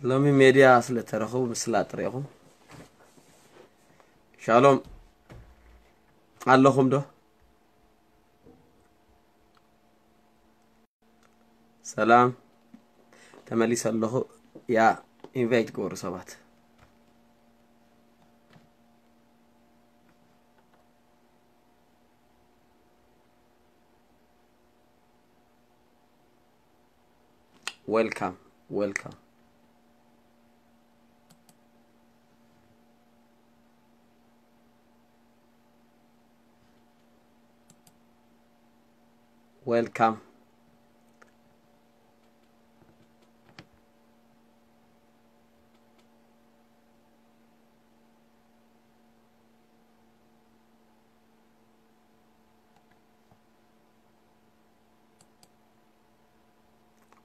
ሎሚ ሜድያ ስለ ተረኽቡ ምስላ ጥሪኹም። ሻሎም ኣለኹም ዶ? ሰላም፣ ተመሊሰ ኣለኹ። ያ ኢንቫይት ግበሩ ሰባት። Welcome, welcome. Welcome.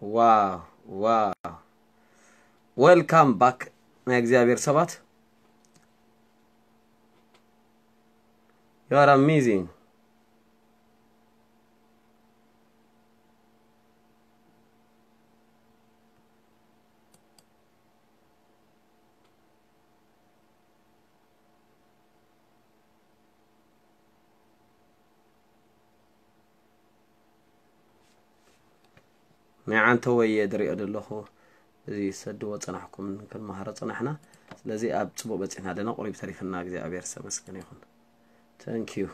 Wow, wow. Welcome back ናይ እግዚኣብሔር ሰባት። You are amazing. ናይ ዓንተወይ እየ ዝሪኦ ዘለኹ። እዚ ሰድዎ ጸናሕኩም ክንመሃሮ ጸናሕና። ስለዚ ኣብ ጽቡቕ በጺሕና ኣለና። ቁሪብ ተሪፍና እግዚኣብሔር ዝተመስገነ ይኹን። Thank you.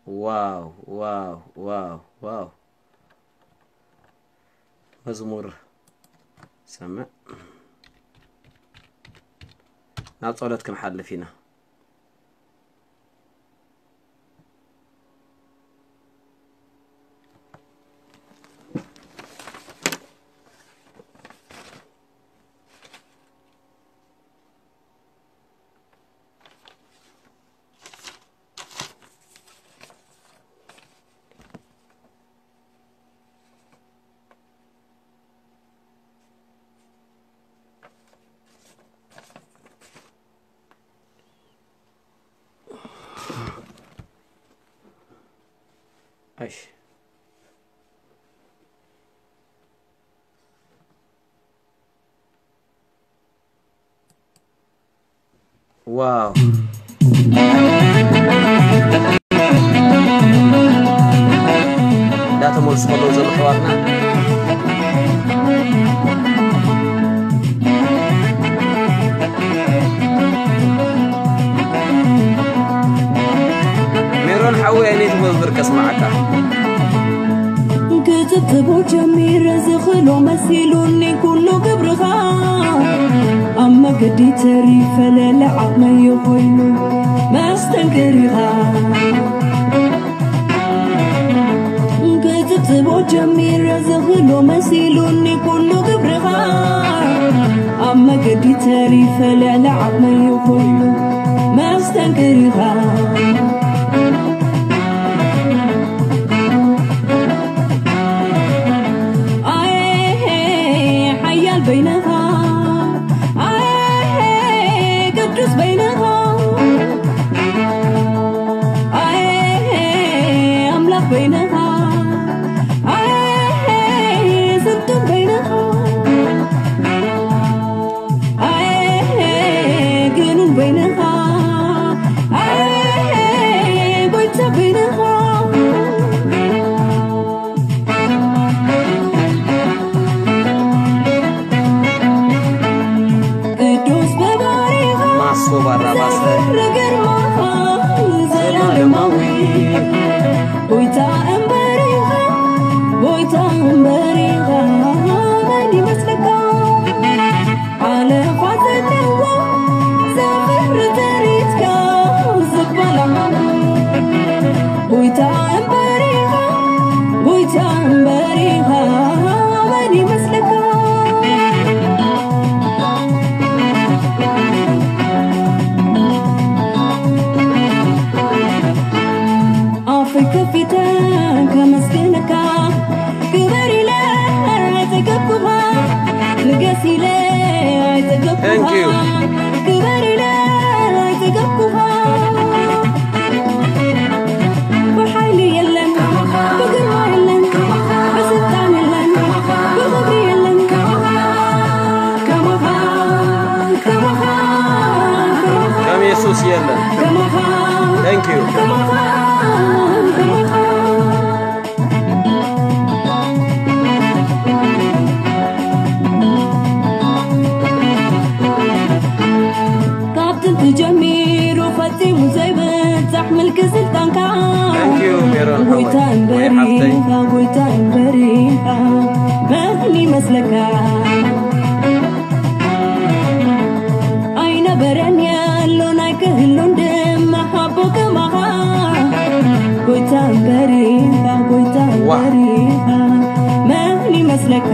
Wow, wow, wow, wow. መዝሙር ሰምዕ። ናብ ጸሎት ክንሓልፍ ኢና። እሺ። ዋው። እንዳተመልሱ ከለዉ ዘለዉ ኣሕዋትና። ሜሮን ሓወይ፣ ኣየነይቲ መዝሙር ከስምዓካ? ክጥብጥቦ ጀሚረ ዝኽሎ መሲሉኒ ኩሉ ግብርኻ፣ ኣብ መገዲ ተሪፈ ለለ ዓቕመይ ኮይኑ መስተንክር ኢኻ። ክጥብጥቦ ጀሚረ ዝኽሎ መሲሉኒ ኩሉ ግብርኻ፣ ኣብ መገዲ ተሪፈ ልዕሊ ዓቕመይ ኮይኑ መስተንክር ኢኻ። ኣየ ሓያል በይንኻ፣ ኣየ ቅዱስ በይንኻ፣ ኣየ ኣምላኽ በይንኻ፣ ኣየ ስልጡን በይንኻ፣ ኣየ ግኑን በይንኻ፣ ኣየ ጎይታ በይንኻ። ቅዱስ በባሪኻ ማሶ ባራባሰ ዘፍር ግርማኻ ዘላለማዊ። ጎይታ እምበሪኻ፣ ጎይታ እምበሪኻ መን ይመስለካ? ሓለፋ ዘለዎ ዘፍር ትርኢትካ ዝበላዕ። ጎይታ እምበሪኻ፣ ጎይታ እምበሪኻ መን ይመስለካ? ኣፈይ ከፊተ ከመስግነካ፣ ክበር ኢለ ኣይጸገብኩኻ፣ ንገስ ኢለ ኣይጸገብኩኻ፣ Thank you. ክበር ኢለ ኣይጸገብኩኻ። ክስልጣንካ Thank you, ሜሮን ሓወይ። ጎይታ እምበሪ ወይ ሓፍተይ። ጎይታ እምበሪ መን ይመስለካ? ኣይነበረን የሎን ኣይክህሉን ድማ ሓቦ ከማኻ ጎይታ እምበሪ ጎይታ ዋህ። እምበሪ መን ይመስለካ?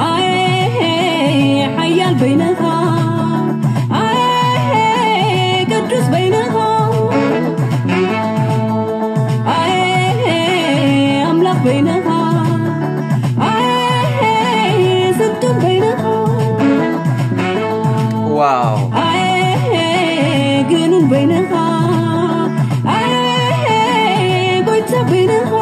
ኣየ ሓያል በይንኻ ኣየ ቅዱስ በይንኻ ኣየ ኣምላኽ በይንኻ ኣየ ስልጡን በይንኻ ዋው ኣየ ግኑን በይንኻ ኣየ ጎይታ በይንኻ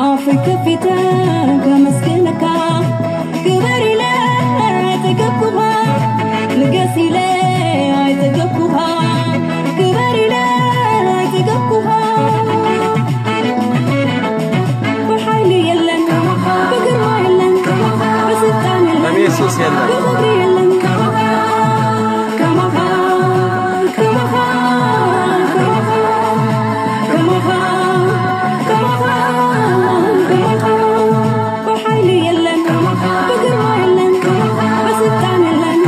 ኣፈይ ከፊተ ከመስግነካ ክበር ኢለ ኣይጠገብኩኻ ንገስ ኢለ ኣይጠገብኩኻ ክበር ኢለ ኣይጠገብኩኻ ብሓይሊ የለን ብግርማ የለን ብስልጣን የለን ከም የሱስ የለን። ብኽብሪ የለን ከማኻ ከማኻ ከማኻ ከማኻ ከማኻ ከማኻ ብሓይሊ የለን ብግርማ የለን ብስልጣን የለን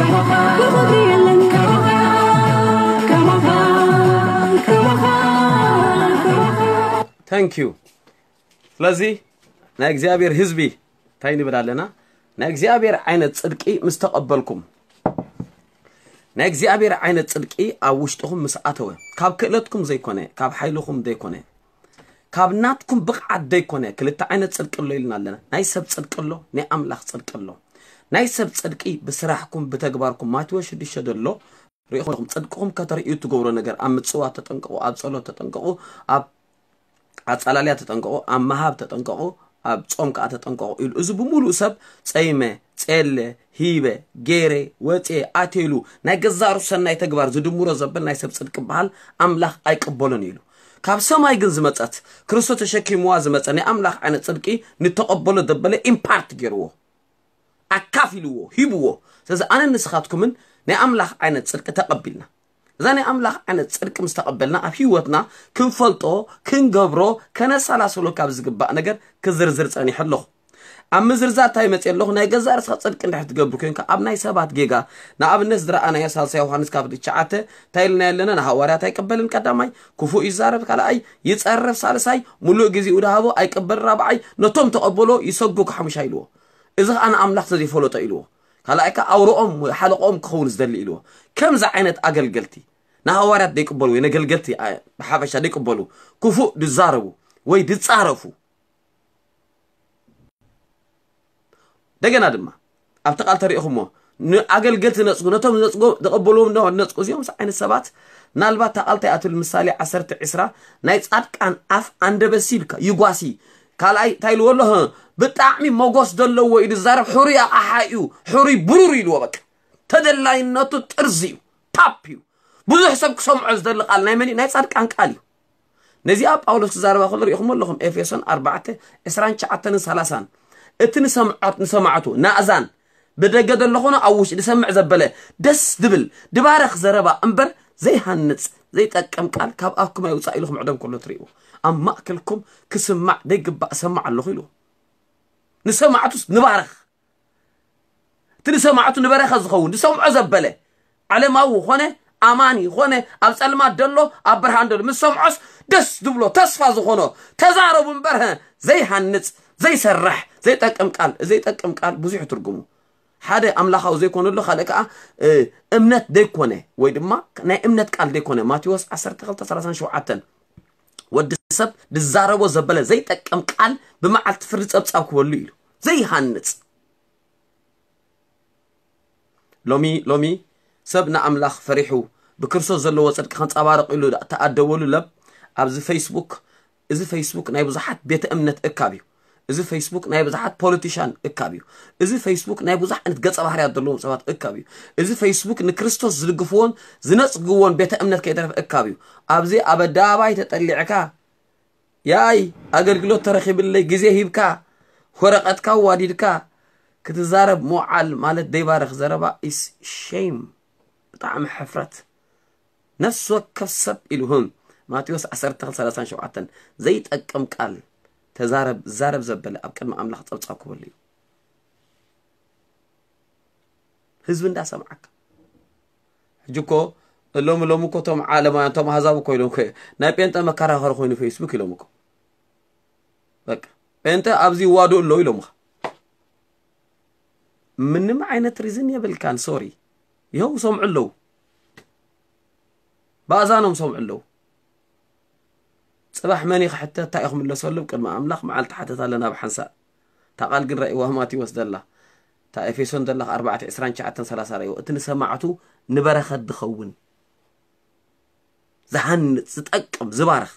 ብኽብሪ የለን ከማኻ ከማኻ ከማኻ Thank you። ስለዚ ናይ እግዚኣብሔር ህዝቢ እንታይ ንብል ኣለና? ናይ እግዚኣብሔር ዓይነት ጽድቂ ምስ ተቐበልኩም፣ ናይ እግዚኣብሔር ዓይነት ጽድቂ ኣብ ውሽጥኹም ምስ ኣተወ፣ ካብ ክእለትኩም ዘይኮነ፣ ካብ ሓይልኹም ዘይኮነ፣ ካብ ናትኩም ብቕዓት ዘይኮነ፣ ክልተ ዓይነት ጽድቂ ኣሎ ኢልና ኣለና። ናይ ሰብ ጽድቂ ኣሎ፣ ናይ ኣምላኽ ጽድቂ ኣሎ። ናይ ሰብ ጽድቂ ብስራሕኩም ብተግባርኩም ማቴዎስ ሽዱሽተ ዘሎ ሪኢኹም ጽድቅኹም ከተርእዩ እትገብሮ ነገር ኣብ ምጽዋት ተጠንቀቑ፣ ኣብ ጸሎት ተጠንቀቑ፣ ኣብ ኣጻላልያ ተጠንቀቑ፣ ኣብ ምሃብ ተጠንቀቑ፣ ኣብ ጾም ከኣ ተጠንቀቑ ኢሉ። እዚ ብምሉእ ሰብ ጸይመ፣ ጼለ፣ ሂበ፣ ጌረ፣ ወጼ፣ ኣቴሉ ናይ ገዛሩ ሰናይ ተግባር ዝድምሮ ዘበል ናይ ሰብ ጽድቂ በሃል ኣምላኽ ኣይቅበሎን ኢሉ። ካብ ሰማይ ግን ዝመጸት ክርስቶስ ተሸኪምዋ ዝመጸ ናይ ኣምላኽ ዓይነት ጽድቂ ንተቐበሎ ዘበለ ኢምፓርት ገይርዎ ኣካፊልዎ ሂብዎ። ስለዚ ኣነ ንስኻትኩምን ናይ ኣምላኽ ዓይነት ጽድቂ ተቐቢልና እዛ ናይ ኣምላኽ ዓይነት ጽድቂ ምስ ተቐበልና ኣብ ህይወትና ክንፈልጦ ክንገብሮ ከነሰላስሎ ካብ ዝግባእ ነገር ክዝርዝር ጸኒሐ ኣለኹ። ኣብ ምዝርዛር እንታይ መጽእ ኣለኹ? ናይ ገዛእ ርእስኻ ጽድቂ እንድሕር ትገብር ኮንካ ኣብ ናይ ሰባት ጌጋ ንኣብነት ዝረኣናዮ ሳልሳይ ዮሃንስ ካብ ትሽዓተ እንታይ ኢልና ኣለና? ንሃዋርያት ኣይቅበልን ቀዳማይ፣ ክፉእ ይዛረብ ካልኣይ፣ ይጸርፍ ሳልሳይ፣ ሙሉእ ግዜኡ ድሃቦ ኣይቅበል ራብዓይ፣ ነቶም ተቐበሎ ይሰጉ ሓሙሻይ ኢልዎ። እዚ ኸኣ ንኣምላኽ ስለዘይፈለጦ ኢልዎ። ካልኣይ ከኣ ኣውሮኦም ወይ ሓለቆኦም ክኸውን ዝደሊ ኢልዎ። ከምዚ ዓይነት ኣገልገልቲ ንሃዋርያት ደይቅበሉ ወይ ነገልገልቲ ብሓፈሻ ደይቅበሉ ክፉእ ድዛረቡ ወይ ድጻረፉ እንደገና ድማ ኣብቲ ቃል ተሪእኹሞ ንኣገልገልቲ ነፅጉ ነቶም ነፅጎ ዘቐበልዎም ነፅጉ እዚኦም ዓይነት ሰባት ምናልባት እታ ቃል እንታይ እያ ትብል ምሳሌ ዓሰርተ ዕስራ ናይ ፃድቃን ኣፍ ኣንደበት ኢልካ ይጓሲ ካልኣይ እንታይ ኢልዎ ኣሎ ብጣዕሚ መጎስ ዘለዎ እዩ ዝዛረብ ሕሩይ ኣቕሓ እዩ ሕሩይ ብሩር ኢልዎ በቃ ተደላይነቱ ጥርዚ እዩ ታፕ እዩ ብዙሕ ሰብ ክሰምዖ ዝደሊ ቃል ናይ መን እዩ ናይ ፃድቃን ቃል እዩ ነዚኣ ጳውሎስ ክዛረባ ከሎ ሪኢኹም ኣለኹም ኤፌሶን ኣርባዕተ ዕስራን ትሽዓተን ሰላሳን እቲ ንሰምዖት ንሰማዕቱ ናእዛን ብደገ ዘሎ ኾነ ኣብ ውሽጢ ዝሰምዕ ዘበለ ደስ ድብል ድባረኽ ዘረባ እምበር ዘይሃንጽ ዘይጠቅም ቃል ካብ ኣፍኩም ኣይውፃእ ኢልኩም ዕደም ከሎ ትርእይዎ ኣብ ማእከልኩም ክስማዕ ዘይግባእ እሰማዕ ኣለኹ ኢሉ ንሰማዕቱስ ንባረኽ እቲ ንሰማዕቱ ንበረኸት ዝኸውን ዝሰምዖ ዘበለ ዓለማዊ ኾነ ኣማኒ ኾነ ኣብ ጸልማት ደሎ ኣብ ብርሃን ደሎ ምስ ሰምዖስ ደስ ዝብሎ ተስፋ ዝኾኖ ተዛረቡ እምበር ዘይሃንጽ ዘይሰርሕ ዘይጠቅም ቃል ዘይጠቅም ቃል ብዙሕ ትርጉሙ ሓደ ኣምላኻዊ ዘይኮነሉ ካልእ ከዓ እምነት ዘይኮነ ወይ ድማ ናይ እምነት ቃል ዘይኮነ ማቴዎስ ዓሰርተ ክልተ ሰላሳ ሸውዓተ ወዲ ሰብ ዝዛረቦ ዘበለ ዘይጠቅም ቃል ብመዓልቲ ፍርዲ ጸብጻብ ክበሉ ኢሉ ዘይሃንጽ ሎሚ ሎሚ ሰብ ንኣምላኽ ፈሪሑ ብክርስቶስ ዘለዎ ጽድቂ ከንጸባርቕ ኢሉ ተኣደበሉ ለብ ኣብዚ ፌስቡክ እዚ ፌስቡክ ናይ ብዙሓት ቤተ እምነት እካብ እዩ እዚ ፌስቡክ ናይ ብዙሓት ፖለቲሻን እካብ እዩ። እዚ ፌስቡክ ናይ ብዙሕ ዓይነት ገጸ ባህርያት ዘለዎም ሰባት እካብ እዩ። እዚ ፌስቡክ ንክርስቶስ ዝድግፍዎን ዝነጽግዎን ቤተ እምነት ከይተረፈ እካብ እዩ። ኣብዚ ኣብ ኣደባባይ ተጠሊዕካ፣ ያይ ኣገልግሎት ተረኺብለይ፣ ግዜ ሂብካ፣ ወረቐትካ ዋዲድካ ክትዛረብ ምውዓል ማለት ዘይባርኽ ዘረባ is shame። ብጣዕሚ ሕፍረት። ነፍሲ ወከፍ ሰብ ኢሉ ህም ማቴዎስ ዓሰርተ ክልተ ሰላሳን ሸውዓተን ዘይጠቅም ቃል ተዛረብ ዛረብ ዘበለ ኣብ ቅድሚ ኣምላኽ ጸብጻብ ክበሉ እዩ። ህዝቢ እንዳሰምዓካ። ሕጂ እኮ ሎሚ ሎሚ እኮ እቶም ዓለማውያን እቶም ኣህዛብ እኮ ኢሎም እኮ፣ ናይ ጴንጠ መከራኸሪ ኮይኑ ፌስቡክ ኢሎም እኮ። በቃ ጴንጠ ኣብዚ ይዋድኡ ኣለዉ ኢሎምኻ። ምንም ዓይነት ሪዝን የብልካን። ሶሪ። ይኸው ሰምዑ ኣለዉ። ብኣዛኖም ሰምዑ ኣለዉ። ጽባሕ መን እዩ ክሕተት? እንታይ እዩ ክምለሰሉ? ቅድሚ ኣምላኽ መዓልቲ ሓተት ኣለና ብሓንሳእ። እታ ቃል ግን ረእይዋ ማቴዎስ ዘላ፣ እታ ኤፌሶን ዘላ ኣርባዕተ ዕስራን ትሽዓተን ሰላሳ ረእይዎ። እቲ ንሰማዕቱ ንበረኸት ዝኸውን፣ ዝሃንጽ፣ ዝጠቅም፣ ዝባርኽ።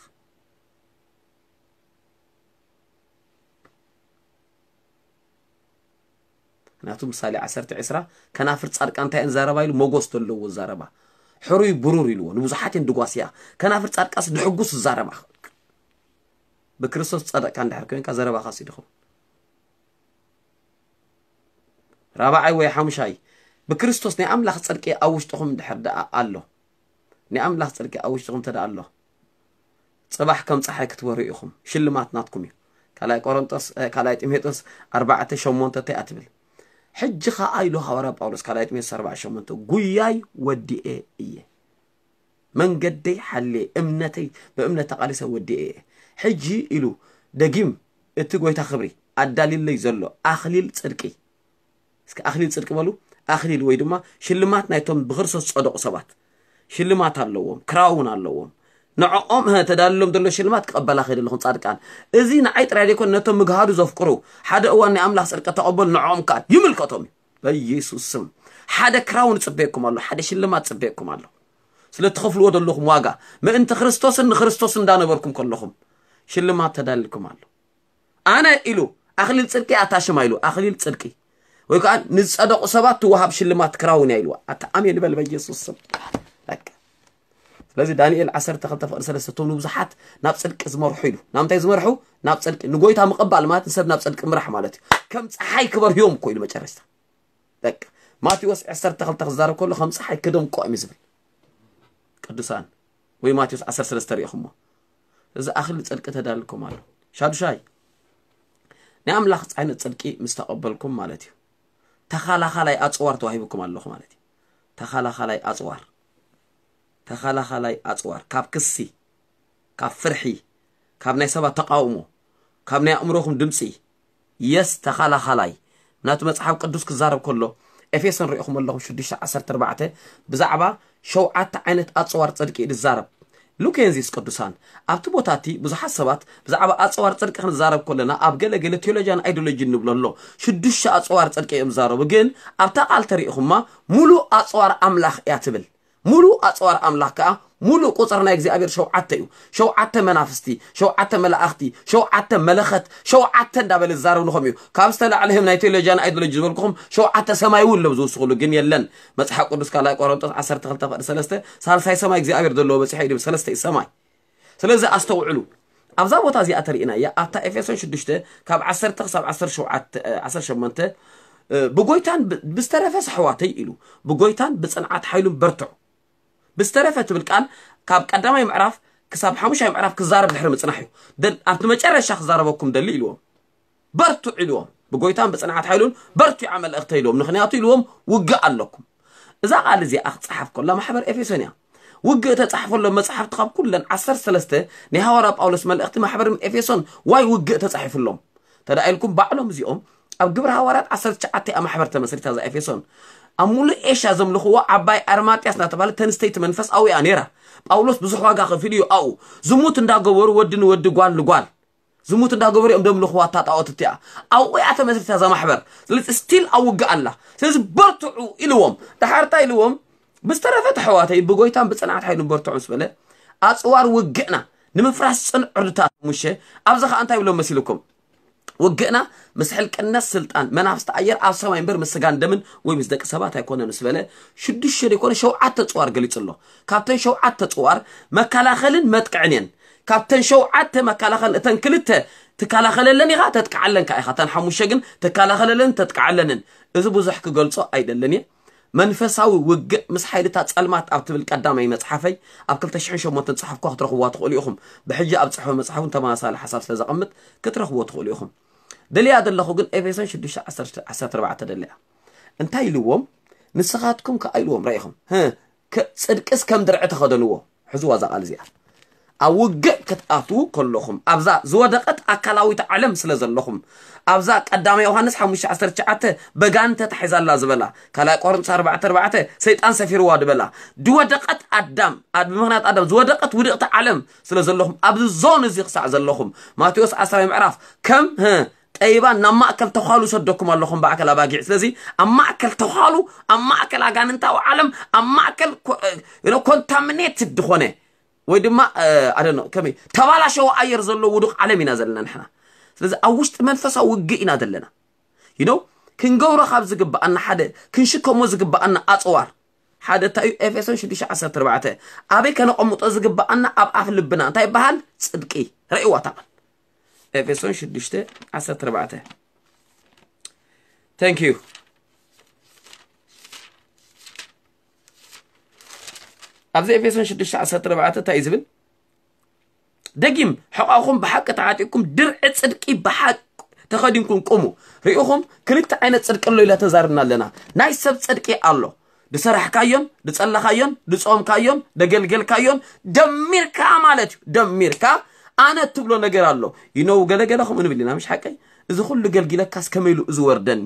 ምክንያቱ ምሳሌ ዓሰርተ ዕስራ፣ ከናፍር ጻድቃን እንታይ እየን ዛረባ ኢሉ? መጎስ ዘለዎ ዛረባ። ሕሩይ ብሩር ኢልዎ፣ ንብዙሓት እየን ድጓስያ። ከናፍር ጻድቃንስ ድሕጉስ ዛረባ። ብክርስቶስ ጸደቅካ እንድሕር ኮይንካ ዘረባኻስ ይድኹም። ራብዓይ ወይ ሓሙሻይ፣ ብክርስቶስ ናይ ኣምላኽ ጽድቂ ኣብ ውሽጥኹም እንድሕር ደኣ ኣሎ። ናይ ኣምላኽ ጽድቂ ኣብ ውሽጥኹም እንተ ደኣ ኣሎ፣ ጽባሕ ከም ጸሓይ ክትበርሁ ኢኹም። ሽልማት ናትኩም እዩ። ካልኣይ ቆሮንጦስ፣ እ፣ ካልኣይ ጢሞቴዎስ ኣርባዕተ ሸሞንተ እንታይ እያ ትብል? ሕጂ ኸኣ ኢሉ ሃዋርያ ጳውሎስ፣ ካልኣይ ጢሞቴዎስ ኣርባዕተ ሸሞንተ፣ "ጉያይ ወዲኤ እየ፣ መንገደይ ሓልየ፣ እምነተይ ብእምነት ተቓሊሰ ወዲኤ እየ። ሕጂ" ኢሉ ደጊም፣ "እቲ ጎይታ ክብሪ ኣዳልዩለይ ዘሎ ኣኽሊል ጽድቂ" እስኪ ኣኽሊል ጽድቂ በሉ። ኣኽሊል ወይ ድማ ሽልማት ናይቶም ብክርስቶስ ዝጸደቑ ሰባት ሽልማት ኣለዎም፣ ክራውን ኣለዎም። ንዕኦም፣ እ፣ ተዳልሎም ዘሎ ሽልማት ክቐበላ ከይደ ኣለኹም ጻድቃን። እዚ ንዓይ ጥራይ ዘይኮነ ነቶም ምግሃዱ ዘፍቅሩ፣ ሓደ እዋን ናይ ኣምላኽ ጽድቂ ተቐበሉ፣ ንዕኦም ከኣ ይምልከቶም እዩ። በኢየሱስ ስም። ሓደ ክራውን ጽበየኩም ኣሎ፣ ሓደ ሽልማት ጽበየኩም ኣሎ። ስለ ትኸፍልዎ ዘለኹም ዋጋ፣ ምእንቲ ክርስቶስን ንክርስቶስን እንዳነበርኩም ከለኹም ሽልማት ተዳልኩም ኣሎ። ኣነ ኢሉ ኣኽሊል ጽድቂ ኣታ ሽማ ኢሉ ኣኽሊል ጽድቂ ወይ ከዓ ንዝጸደቑ ሰባት ትወሃብ ሽልማት ክራውን እያ ኢልዋ። ኣታ ኣሜን በል በኢየሱስ ስም። በቃ። ስለዚ ዳንኤል ዓሰርተ ክልተ ፍቕዲ ሰለስተ እቶም ንብዙሓት ናብ ጽድቂ ዝመርሑ ኢሉ። ናብ እንታይ ዝመርሑ? ናብ ጽድቂ። ንጎይታ ምቕባል ማለት ንሰብ ናብ ጽድቂ ምራሕ ማለት እዩ። ከም ጸሓይ ክበርህዮም እኮ ኢሉ መጨረሽታ። በቃ። ማቴዎስ ዓሰርተ ክልተ ክዛረብ ከሎ ከም ጸሓይ ክደምቆ እዩ ዝብል። ቅዱሳን ወይ ማቴዎስ ዓሰርተ ሰለስተ ሪኢኹሞ። እዚ ኣኽሊል ጽድቂ ተዳልኩም ኣሎ። ሻዱሻይ፣ ናይ ኣምላኽ ዓይነት ጽድቂ ምስ ተቐበልኩም ማለት እዩ። ተኻላኻላይ ኣጽዋር ተዋሂብኩም ኣለኹ ማለት እዩ። ተኻላኻላይ ኣጽዋር። ተኻላኻላይ ኣጽዋር። ካብ ክሲ፣ ካብ ፍርሒ፣ ካብ ናይ ሰባት ተቃውሞ፣ ካብ ናይ ኣእምሮኹም ድምጺ፣ የስ ተኻላኻላይ። ናቱ መጽሓፍ ቅዱስ ክዛረብ ከሎ፣ ኤፌሶን ሪኢኹም ኣለኹም ሽዱሽተ ዓሰርተ ኣርባዕተ ብዛዕባ ሸውዓተ ዓይነት ኣጽዋር ጽድቂ እዩ ዝዛረብ። ሉኬንዚስ ቅዱሳን፣ ኣብቲ ቦታ እቲ ብዙሓት ሰባት ብዛዕባ ኣጽዋር ጽድቂ ክንዛረብ ከለና ኣብ ገለ ገለ ቴዎሎጂያን ኣይዲዮሎጂ ንብሎ ኣሎ። ሽዱሽተ ኣጽዋር ጽድቂ እዮም ዝዛረቡ፣ ግን ኣብታ ቃል ተሪኢኹማ ሙሉእ ኣጽዋር ኣምላኽ እያ ትብል። ሙሉእ ኣጽዋር ኣምላኽ ከኣ ሙሉእ ቁጽሪ ናይ እግዚኣብሔር ሸውዓተ እዩ። ሸውዓተ መናፍስቲ፣ ሸውዓተ መላእኽቲ፣ ሸውዓተ መለኸት፣ ሸውዓተ እንዳበለ ዝዛረብ ንኸም እዩ። ካብ ዝተላዕለ ህም ናይ ቴዎሎጂያን ኣይዲዮሎጂ ዝበልኩኹም ሸውዓተ ሰማይ እውን ሎም ዝውስኹሉ ግን የለን። መጽሓፍ ቅዱስ ካልኣይ ቆሮንጦስ ዓሰርተ ክልተ ፍቕዲ ሰለስተ ሳልሳይ ሰማይ እግዚኣብሔር ዘለዎ በጺሐ እዩ ድብል ሰለስተ እዩ ሰማይ። ስለዚ ኣስተውዕሉ። ኣብዛ ቦታ እዚኣ ተሪእናያ ኣብታ ኤፌሶን ሽዱሽተ ካብ ዓሰርተ ክሳብ ዓሰርተ ሸውዓተ፣ እ፣ ዓሰርተ ሸሞንተ፣ እ፣ ብጎይታን ብ-፣ ብዝተረፈ ኣሕዋተይ ኢሉ ብጎይታን ብጽንዓት ሓይሉን በርትዑ። ብዝተረፈ ትብል ቃል ካብ ቀዳማይ ምዕራፍ ክሳብ ሓሙሻይ ምዕራፍ ክዛረብ ድሕሪ ምጽናሕ እዩ። ደል-፣ ኣብቲ መጨረሻ ክዛረበኩም ደሊ ኢልዎም። በርትዑ ኢልዎም። ብጎይታን ብጽንዓት ሓይሉን በርትዑ መልእኽተ ኢልዎም። ምኽንያቱ ኢልዎም ውግእ ኣለኩም። እዛ ቃል እዚኣ ክጸሓፍ ከላ ማሕበር ኤፌሶን እያ። ውግእ ተጻሕፈሎም መጽሓፍቲ ካብ ኩለን ዓሰርተ ሰለስተ ናይ ሃዋርያ ጳውሎስ መልእኽቲ ማሕበር ኤፌሶን ዋይ ውግእ ተጻሒፍሎም። ተዳ ኢልኩም ባዕሎም እዚኦም ኣብ ግብረ ሃዋርያት ዓሰርተ ትሽዓተ እያ ማሕበር ተመስሪታ እዛ ኤፌሶን። ኣብ ሙሉእ ኤሽያ ዘምልኽዎ ዓባይ ኣርማጥያስ እናተባህለ ተንስተይቲ መንፈስ ኣውያ ነይራ። ጳውሎስ ብዙሕ ዋጋ ከፊሉ እዩ ኣብኡ። ዝሙት እንዳገበሩ ወዲ ንወዲ ጓል ንጓል ዝሙት እንዳገበሩ እዮም ደምልኽዋ እታ ጣዖት እቲኣ። ኣብኡ እያ ተመስሪታ እዛ ማሕበር። ስለዚ ስቲል ኣብ ውግእ ኣላ። ስለዚ በርትዑ ኢልዎም። ድሓር እንታይ ኢልዎም? ብዝተረፈ ተሕዋተይ ብጎይታን ብጽንዓት ሓይሉን በርትዑ ምስ በለ ኣጽዋር ውግእና ንምፍራስ ጽንዕ ዕርድታት ሙሸ ኣብዚ ኸኣ እንታይ ይብሎም መሲልኩም? ውግእና ምስ ሕልቅነት ስልጣን መናፍስቲ ኣየር ኣብ ሰማይ እምበር ምስ ስጋን ደምን ወይ ምስ ደቂ ሰባት ኣይኮነን ምስ በለ ሽዱሽተ ዘይኮነ ሸውዓተ ጽዋር ገሊጹ ኣሎ። ካብተን ሸውዓተ ጽዋር መከላኸልን መጥቅዕን እየን። ካብተን ሸውዓተ መከላኸልን እተን ክልተ ትከላኸለለን ኢኻ ተጥቅዓለን ከኣ ኢኻ። እተን ሓሙሽተ ግን ትከላኸለለን ተጥቅዓለንን። እዚ ብዙሕ ክገልጾ ኣይደልን እየ። መንፈሳዊ ውግእ ምስ ሓይልታት ጸልማት ኣብ ትብል ቀዳማይ መጽሓፈይ ኣብ ክልተ ሽሕን ሸሞንተን ጽሑፍኳ ክትረኽብዋ ትኽእሉ ኢኹም። ብሕጂ ኣብ ጽሑፈ መጽሓፍ እውን ተመሳሳሊ ሓሳብ ስለ ዘቐምጥ ክትረኽብዎ ትኽእሉ ኢኹም። ደልያ ዘለኹ ግን ኤፌሶን ሽዱሽተ ዓሰርተ ኣርባዕተ ደልያ። እንታይ ኢልዎም? ንስኻትኩም ከኣ ኢልዎም ራኢኹም። ጽድቅስ ከም ድርዒ ተኸደንዎ። ሕዝዋ እዛ ቃል እዚኣ። ኣብ ውግእ ክትኣትዉ ከለኹም ኣብዛ ዝወደቐት ኣካላዊት ዓለም ስለ ዘለኹም ኣብዛ ቀዳማይ ዮሃንስ ሓሙሽተ ዓሰርተ ትሽዓተ በጋን ተታሒዛላ ዝበላ ካልኣይ ቆሮንቶስ ኣርባዕተ ኣርባዕተ ሰይጣን ሰፊርዋ ዝበላ ዝወደቐት ኣዳም ኣብ ምኽንያት ኣዳም ዝወደቐት ውድቕቲ ዓለም ስለ ዘለኹም ኣብዚ ዞን እዚ ክሳዕ ዘለኹም ማቴዎስ ዓስራይ ምዕራፍ ከም ጠይባን ናብ ማእከል ተዃሉ ሰደኩም ኣለኹም ብኣካል ኣባጊዕ። ስለዚ ኣብ ማእከል ተዃሉ ኣብ ማእከል ኣጋንንታዊ ዓለም ኣብ ማእከል ኮንታሚኔትድ ዝኾነ ወይ ድማ ኣደኖ ከመይ ተባላሸው ኣየር ዘለዎ ውዱቕ ዓለም ኢና ዘለና ንሕና። ስለዚ ኣብ ውሽጢ መንፈሳዊ ውግእ ኢና ዘለና። ይነው ክንገብሮ ካብ ዝግብኣና ሓደ ክንሽከሞ ዝግብኣና ኣፅዋር ሓደ እንታይ እዩ? ኤፌሶን ሽዱሽተ ዓሰርተ ኣርባዕተ ኣበይ ከነቐምጦ ዝግብኣና ኣብ ኣፍ ልብና እንታይ ይበሃል? ፅድቂ። ረእይዋ ታቐል ኤፌሶን ሽዱሽተ ዓሰርተ ኣርባዕተ። Thank you። ኣብዚ ኤፌሶን ሽዱሽተ ዓሰርተ ኣርባዕተ እንታይ እዩ ዝብል? ደጊም ሕቓኹም ብሓቂ ተዓጢቅኩም ድርዒ ጽድቂ ብሓቅ ተኸዲንኩም ቁሙ። ርኢኹም ክልተ ዓይነት ጽድቂ ኣሎ ኢላ ተዛርብና ኣለና። ናይ ሰብ ጽድቂ ኣሎ። ድሰራሕካዮን ድጸለኻዮን ድጾምካዮን ደገልገልካዮን ደሚርካ ማለት እዩ። ደሚርካ ኣነ ትብሎ ነገር ኣሎ። ይነው ገለገለ ከምኡ ንብል ኢና ምሽ ሓቀይ? እዚ ኩሉ ገልጊለካስ ከመይ ኢሉ እዚ ወርደኒ?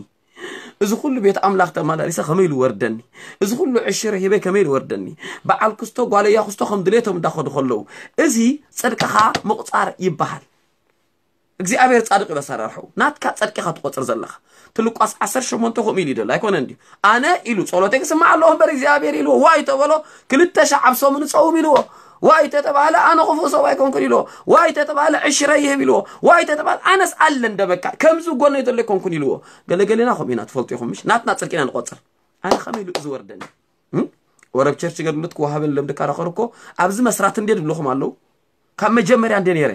እዚ ኩሉ ቤት ኣምላኽ ተመላሊሰ ከመይ ኢሉ ወርደኒ? እዚ ኩሉ ዕሽረ ሂበ ከመይ ኢሉ ወርደኒ? በዓል ክስቶ ጓለያ ክስቶ ከም ድሌቶም እንዳኸዱ ከለዉ እዚ ጽድቅኻ ምቑጻር ይበሃል። እግዚኣብሔር ጻድቅ እዩ ኣሰራርሕኡ። ናትካ ጸድቅኻ ትቆጽር ዘለኻ። ትልቋስ ዓሰርተ ሸሞንተ ከምኡ ኢሉ ይደል ኣይኮነ እንዲ ኣነ ኢሉ ጸሎተይ ክስማዕ ኣለዎ እምበር እግዚኣብሔር ኢልዎ ዋይ ተበሎ ክልተ ሻዕ ኣብ ሰሙን ጸውም ኢልዎ ዋይ ተተባህለ ኣነ ክፉእ ሰብ ኣይኮንኩን ኢልዎ ዋይ ተተባህለ ዕሽረ ይህብ ኢልዎ ዋይ ተተባህለ ኣነስ ኣለ እንደበካ ከምዚ ጎነይ ዘሎ ኣይኮንኩን ኢልዎ። ገለገሌና ከምኡ ኢና ትፈልጡ ኢኹም ምሽ ናትና ጽድቂና ንቆጽር። ኣነ ከመይ ኢሉ እዚ ወርደኒ ወረብ ቸርች ገድሉት ክወሃበን ለምድካ ረኸርኮ ኣብዚ መስራት እንዴ ድብልኹም ኣለዉ። ካብ መጀመርያ እንዴ ነይረ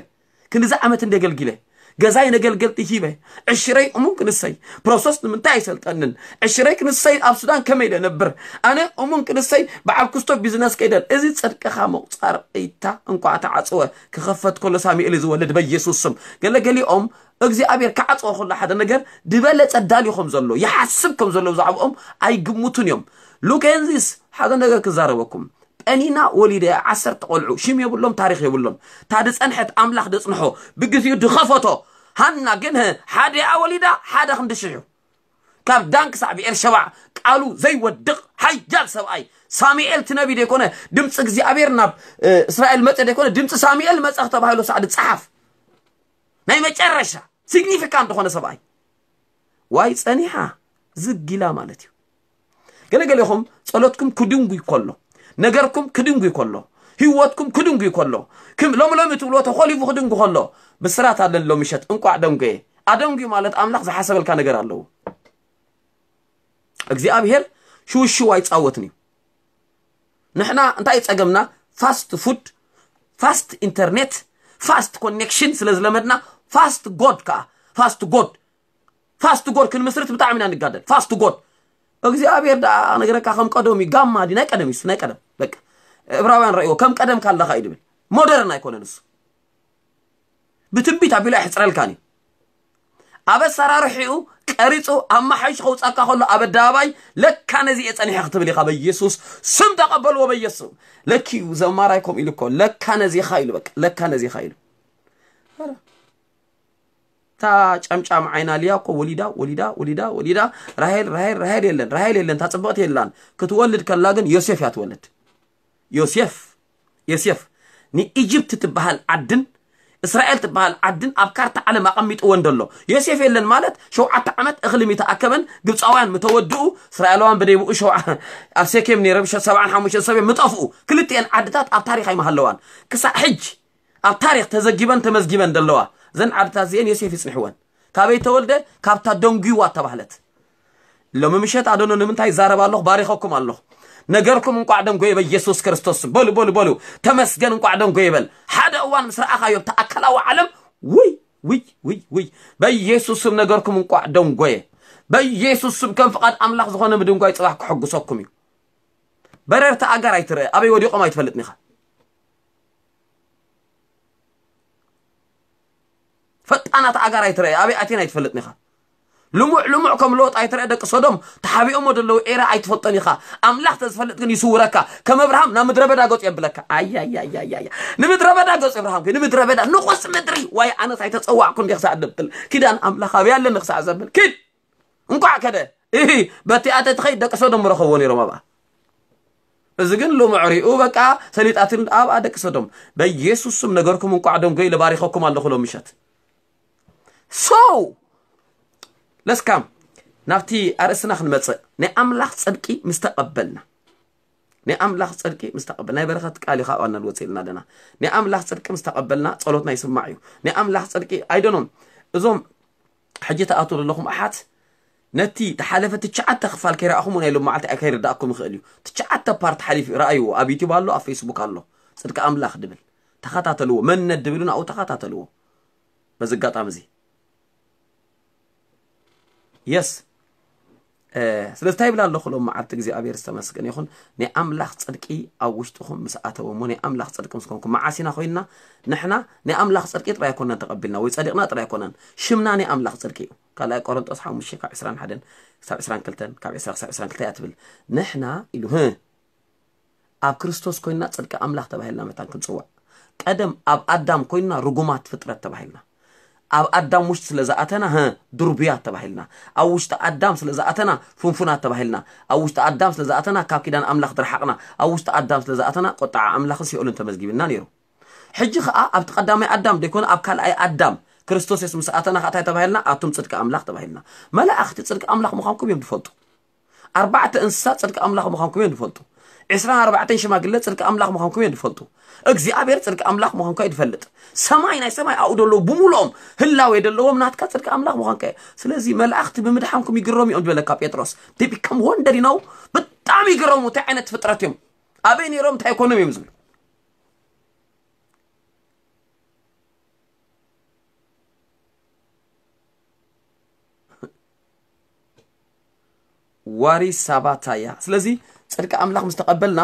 ክንድዚ ዓመት እንዴ ገልጊለ ገዛይ ነገልገልቲ ሂበ ዕሽረይ እሙን ክንሰይ ፕሮሰስ ንምንታይ ኣይሰልጠንን ዕሽረይ ክንሰይ ኣብ ሱዳን ከመይ ደነብር ኣነ እሙን ክንሰይ በዓል ኩስቶ ቢዝነስ ከይደን እዚ ጽድቅኻ ምቑጻር እይታ እንኳዕ ተዓጽወ ክኸፈት ከሎ ሳሙኤል ዝወልድ በኢየሱስ ስም ገለገሊኦም እግዚኣብሔር ክዓጽወ ከሎ ሓደ ነገር ዝበለጸ ዳልዩ ከም ዘሎ ይሓስብ ከም ዘሎ ብዛዕባኦም ኣይግምቱን እዮም። ሉኬንዚስ ሓደ ነገር ክዛረበኩም ጴኒና ወሊደ ዓሰርተ ቆልዑ ሽም የብሎም ታሪኽ የብሎም። እታ ድጸንሐት ኣምላኽ ደጽንሖ ብግዜኡ ድኸፈቶ። ሃና ግን ሓደ እያ ወሊዳ ሓደ ክንዲ ሽሕ እዩ። ካብ ዳን ክሳዕ ብኤርሸባ ቃሉ ዘይወድቕ ሓያል ሰብኣይ ሳሙኤል እቲ ነቢ ደይኮነ ድምፂ እግዚኣብሔር ናብ እስራኤል መፀ ደይኮነ ድምፂ ሳሙኤል መፀ ተባሂሉ ሳዕ ድፀሓፍ ናይ መጨረሻ ሲግኒፊካንት ዝኾነ ሰብኣይ ዋይ ጸኒሓ ዝጊላ ማለት እዩ። ገለገሌኹም ጸሎትኩም ክድንጉ ይኮሎ ነገርኩም ክድንጉ ይኮሎ ህይወትኩም ክድንጉ ይኮሎ ክም ሎም ሎም ትብሎ ተኾሊፉ ክድንጉ ከሎ ብስራት ኣለሎ ምሸት እንቋዕ ደንጎየ ኣደንጉ ማለት ኣምላኽ ዝሓሰበልካ ነገር ኣለዎ። እግዚኣብሔር ሽውሽው ኣይጻወትን እዩ። ንሕና እንታይ ጸገምና? ፋስት ፉድ፣ ፋስት ኢንተርኔት፣ ፋስት ኮኔክሽን ስለ ዝለመድና ፋስት ጎድ ከኣ ፋስት ጎድ ፋስት ጎድ ክንምስርት ብጣዕሚ ኢና ንጋደል። ፋስት ጎድ እግዚኣብሔር ደኣ ነገረካ ከም ቀደም እዩ። ጋማ ድዩ ናይ ቀደም እዩ ናይ ቀደም በቃ እብራውያን ረእይዎ ከም ቀደም ካለኻ እዩ ድብል ሞደርን ኣይኮነን እሱ ብትንቢት ኣቢሉ ኣይሕፅረልካን እዩ። ኣብ ኣሰራርሒኡ ቀሪፁ ኣመሓይሹ ከውፃካ ከሎ ኣብ ኣደባባይ ለካ ነዚ እየ ፀኒሐ ክትብል ኢኻ በኢየሱስ ስም ተቐበልዎ በኢየሱስ ስም። ለኪ እዩ ዘማራይ ከምኡ ኢሉ እኮ ለካ ነዚኻ ኢሉ በቃ ለካ ነዚኻ ኢሉ እታ ጨምጫም ዓይና ልያ እኮ ወሊዳ ወሊዳ ወሊዳ ወሊዳ ራሄል ራሄል ራሄል የለን ራሄል የለን እታ ፅብቕቲ የላን ክትወልድ ከላ ግን ዮሴፍ እያ ትወልድ። ዮሴፍ ዮሴፍ ንኢጅፕት ትበሃል ዓድን እስራኤል ትበሃል ዓድን ኣብ ካርታ ዓለም ኣቐሚጥዎ እንደሎ ዮሴፍ የለን ማለት ሸውዓተ ዓመት እኽሊ ሚተኣከበን ግብፃውያን ምተወድኡ እስራኤላውያን ብደይብኡ ሸውዓ ኣብ ሴኬም ነይሮም ሸ- ሰብዓን ሓሙሽተን ሰብ እዮም ምጠፍኡ ክልቲኤን ዓድታት ኣብ ታሪኽ ኣይመሃለዋን ክሳዕ ሕጂ ኣብ ታሪኽ ተዘጊበን ተመዝጊበን ደለዋ እዘን ዓድታት እዚአን ዮሴፍ ይፅንሕወን ካበይ ተወልደ? ካብታ ደንጉይዋ ተባህለት። ሎሚ ምሸት ኣዶኖ ንምንታይ ይዛረብ ኣለኹ? ባሪኸኩም ኣለኹ። ነገርኩም እንቋዕ ደንጎየ በኢየሱስ ክርስቶስ። በሉ፣ በሉ፣ በሉ። ተመስገን፣ እንቋዕ ደንጎየ በል። ሓደ እዋን ምስ ረኣኻዮ ኣብቲ ኣካላዊ ዓለም፣ ውይ፣ ውይ፣ ውይ፣ ውይ። በኢየሱስ ስም ነገርኩም እንቋዕ ደንጎየ። በኢየሱስ ስም ከም ፍቓድ ኣምላኽ ዝኾነ ምድንጓይ ጽባሕ ክሕጉሰኩም እዩ። በረርቲ ኣጋር ኣይትረአ፣ ኣበይ ወዲቖም ኣይትፈልጥን ኢኻ። ፈጣናት ኣጋር ኣይትረአ፣ ኣበይ ኣትየን ኣይትፈልጥን ኢኻ። ልሙዕ ልሙዕ ከም ሎጥ ኣይትረአ፣ ደቂ ሶዶም ተሓቢኦሞ ዘለዉ ኤራ ኣይትፈልጦን ኢኻ። ኣምላኽ ተዝፈልጥ ግን ይስውረካ፣ ከም ኣብርሃም ናብ ምድረ በዳ ገጹ የብለካ። ኣያያያያያ፣ ንምድረ በዳ ገጹ ኣብርሃም ግን፣ ንምድረ በዳ ንቑስ ምድሪ። ዋይ ኣነስ ኣይተጸዋዕኩ እንዲ ክሳዕ ደብል፣ ኪዳን ኣምላኽ ኣበይ ኣለኒ ክሳዕ ዘብል። ኪድ እንቋዕ ከደ እሂ፣ በቲኣ ተትኸይድ ደቂ ሶዶም ረኸብዎ ነይሮም ኣብኣ። እዚ ግን ልሙዕ ሪኡ በቃ ሰሊጣትን ኣብኣ ደቂ ሶዶም። በኢየሱስ ስም ነገርኩም እንቋዕ ደንጎ ኢለ ባሪኸኩም ኣለኹ ሎም ምሸት። So let's come ናብቲ ኣርእስትና ክንመጽእ። ናይ ኣምላኽ ጽድቂ ምስ ተቐበልና፣ ናይ ኣምላኽ ጽድቂ ምስ ተቐበል ናይ በረኸት ቃል እዩ። ካብኣ ንወጽእ ኢልና ኣለና። ናይ ኣምላኽ ጽድቂ ምስ ተቐበልና ጸሎትና ይስማዕ እዩ። ናይ ኣምላኽ ጽድቂ ኣይደኖም እዞም ሕጂ ትኣትዉ ዘለኹም ኣሓት ነቲ ተሓለፈ ትሽዓተ ክፋል ከይረኣኹም ናይ ሎም መዓልቲ ከይርዳእኩም ይኽእል እዩ። ትሽዓተ ፓርት ሓሊፉ እዩ። ረኣይዎ፣ ኣብ ዩቲዩብ ኣሎ፣ ኣብ ፌስቡክ ኣሎ። ጽድቂ ኣምላኽ ድብል ተኸታተልዎ፣ መንነት ድብል እውን ኣብኡ ተኸታተልዎ። በዚ ኣጋጣሚ እዚ የስ ስለዚ እንታይ ይብል ኣለኹ ሎም መዓልቲ እግዚኣብሔር ዝተመስገነ ይኹን። ናይ ኣምላኽ ጽድቂ ኣብ ውሽጥኹም ምስ ኣተወ እሞ ናይ ኣምላኽ ጽድቂ ምስ ኮንኩም መዓስ ኢና ኮይንና ንሕና ናይ ኣምላኽ ጽድቂ ጥራይ ኣይኮነን ተቐቢልና ወይ ጸዲቕና ጥራይ ኣይኮነን ሽምና ናይ ኣምላኽ ጽድቂ እዩ። ካልኣይ ቆሮንጦስ ሓሙሽተ ካብ ዕስራን ሓደን ክሳብ ዕስራን ክልተን ካብ ዕስራ ክሳብ ዕስራን ክልተ እያ ትብል። ንሕና ኢሉ ህ ኣብ ክርስቶስ ኮይንና ጽድቂ ኣምላኽ ተባሂልና መታን ክንጽዋዕ። ቀደም ኣብ ኣዳም ኮይንና ርጉማት ፍጥረት ተባሂልና። ኣብ ኣዳም ውሽጢ ስለ ዝኣተና ህ ድርቡያት ተባሂልና። ኣብ ውሽጢ ኣዳም ስለ ዝኣተና ፍንፉናት ተባሂልና። ኣብ ውሽጢ ኣዳም ስለ ዝኣተና ካብ ኪዳን ኣምላኽ ድረሓቕና። ኣብ ውሽጢ ኣዳም ስለ ዝኣተና ቁጥዓ ኣምላኽን ሲኦልን ተመዝጊብና ነይሩ። ሕጂ ኸኣ ኣብቲ ቀዳማይ ኣዳም ደይኮነ ኣብ ካልኣይ ኣዳም ክርስቶስ የሱስ ምስ ኣተና ኸኣ እንታይ ተባሂልና? ኣቱም ጽድቂ ኣምላኽ ተባሂልና። መላእኽቲ ጽድቂ ኣምላኽ ምዃንኩም እዮም ዝፈልጡ። ኣርባዕተ እንስሳ ጽድቂ ኣምላኽ ምዃንኩም እዮም ዝፈልጡ። ዕስራን ኣርባዕተን ሽማግለ ጽድቂ ኣምላኽ ምዃንኩም እዮም ዝፈልጡ። እግዚኣብሔር ጽድቂ ኣምላኽ ምዃንካ እዩ ዝፈልጥ። ሰማይ ናይ ሰማይ ኣብኡ ዘለዉ ብምሉኦም ህላዌ ዘለዎም ናትካ ጽድቂ ኣምላኽ ምዃንካ እዩ። ስለዚ መላእኽቲ ብምድሓንኩም ይግረሙ እዮም ዝበለካ ጴጥሮስ። They become wonder, you know? ብጣዕሚ ይግረሙ። እንታይ ዓይነት ፍጥረት እዮም? ኣበይ ነይሮም? እንታይ ኮኖም እዮም ዝብሉ? ዋሪ ሳባታያ። ስለዚ ጽድቂ ኣምላኽ ምስ ተቐበልና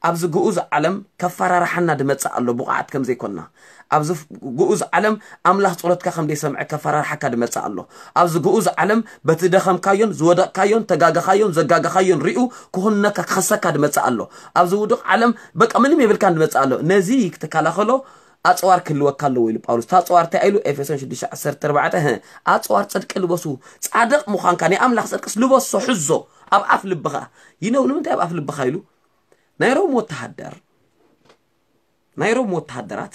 ኣብዚ ግኡዝ ዓለም ከፈራርሓና ድመጽእ ኣሎ፣ ብቑዓት ከም ዘይኮንና። ኣብዚ ግኡዝ ዓለም ኣምላኽ ጸሎትካ ከም ዘይሰምዐ ከፈራርሓካ ድመጽእ ኣሎ። ኣብዚ ግኡዝ ዓለም በቲ ደኸምካዮን ዝወደቕካዮን ተጋገኻዮን ዘጋገኻዮን ሪኡ ክኹንነካ ክኸሰካ ድመጽእ ኣሎ። ኣብዚ ውዱቕ ዓለም በቃ ምንም የብልካን ድመጽእ ኣሎ። ነዚ ክትከላኸሎ ኣጽዋር ክህልወካ ኣለዎ ኢሉ ጳውሎስ። እታ ኣጽዋር እንታይ ኢሉ? ኤፌሶን ሽዱሽተ ዓሰርተ ኣርባዕተ፣ "ህ፣ ኣጽዋር ጽድቂ ልበሱ፣ ጻድቕ ምዃንካ ናይ ኣምላኽ ጽድቅስ ልበሶ፣ ሕዞ ኣብ ኣፍ ልብኻ ይነው." ንምንታይ ኣብ ኣፍ ልብኻ ኢሉ? ናይ ሮም ወተሃደር፣ ናይ ሮም ወተሃደራት፣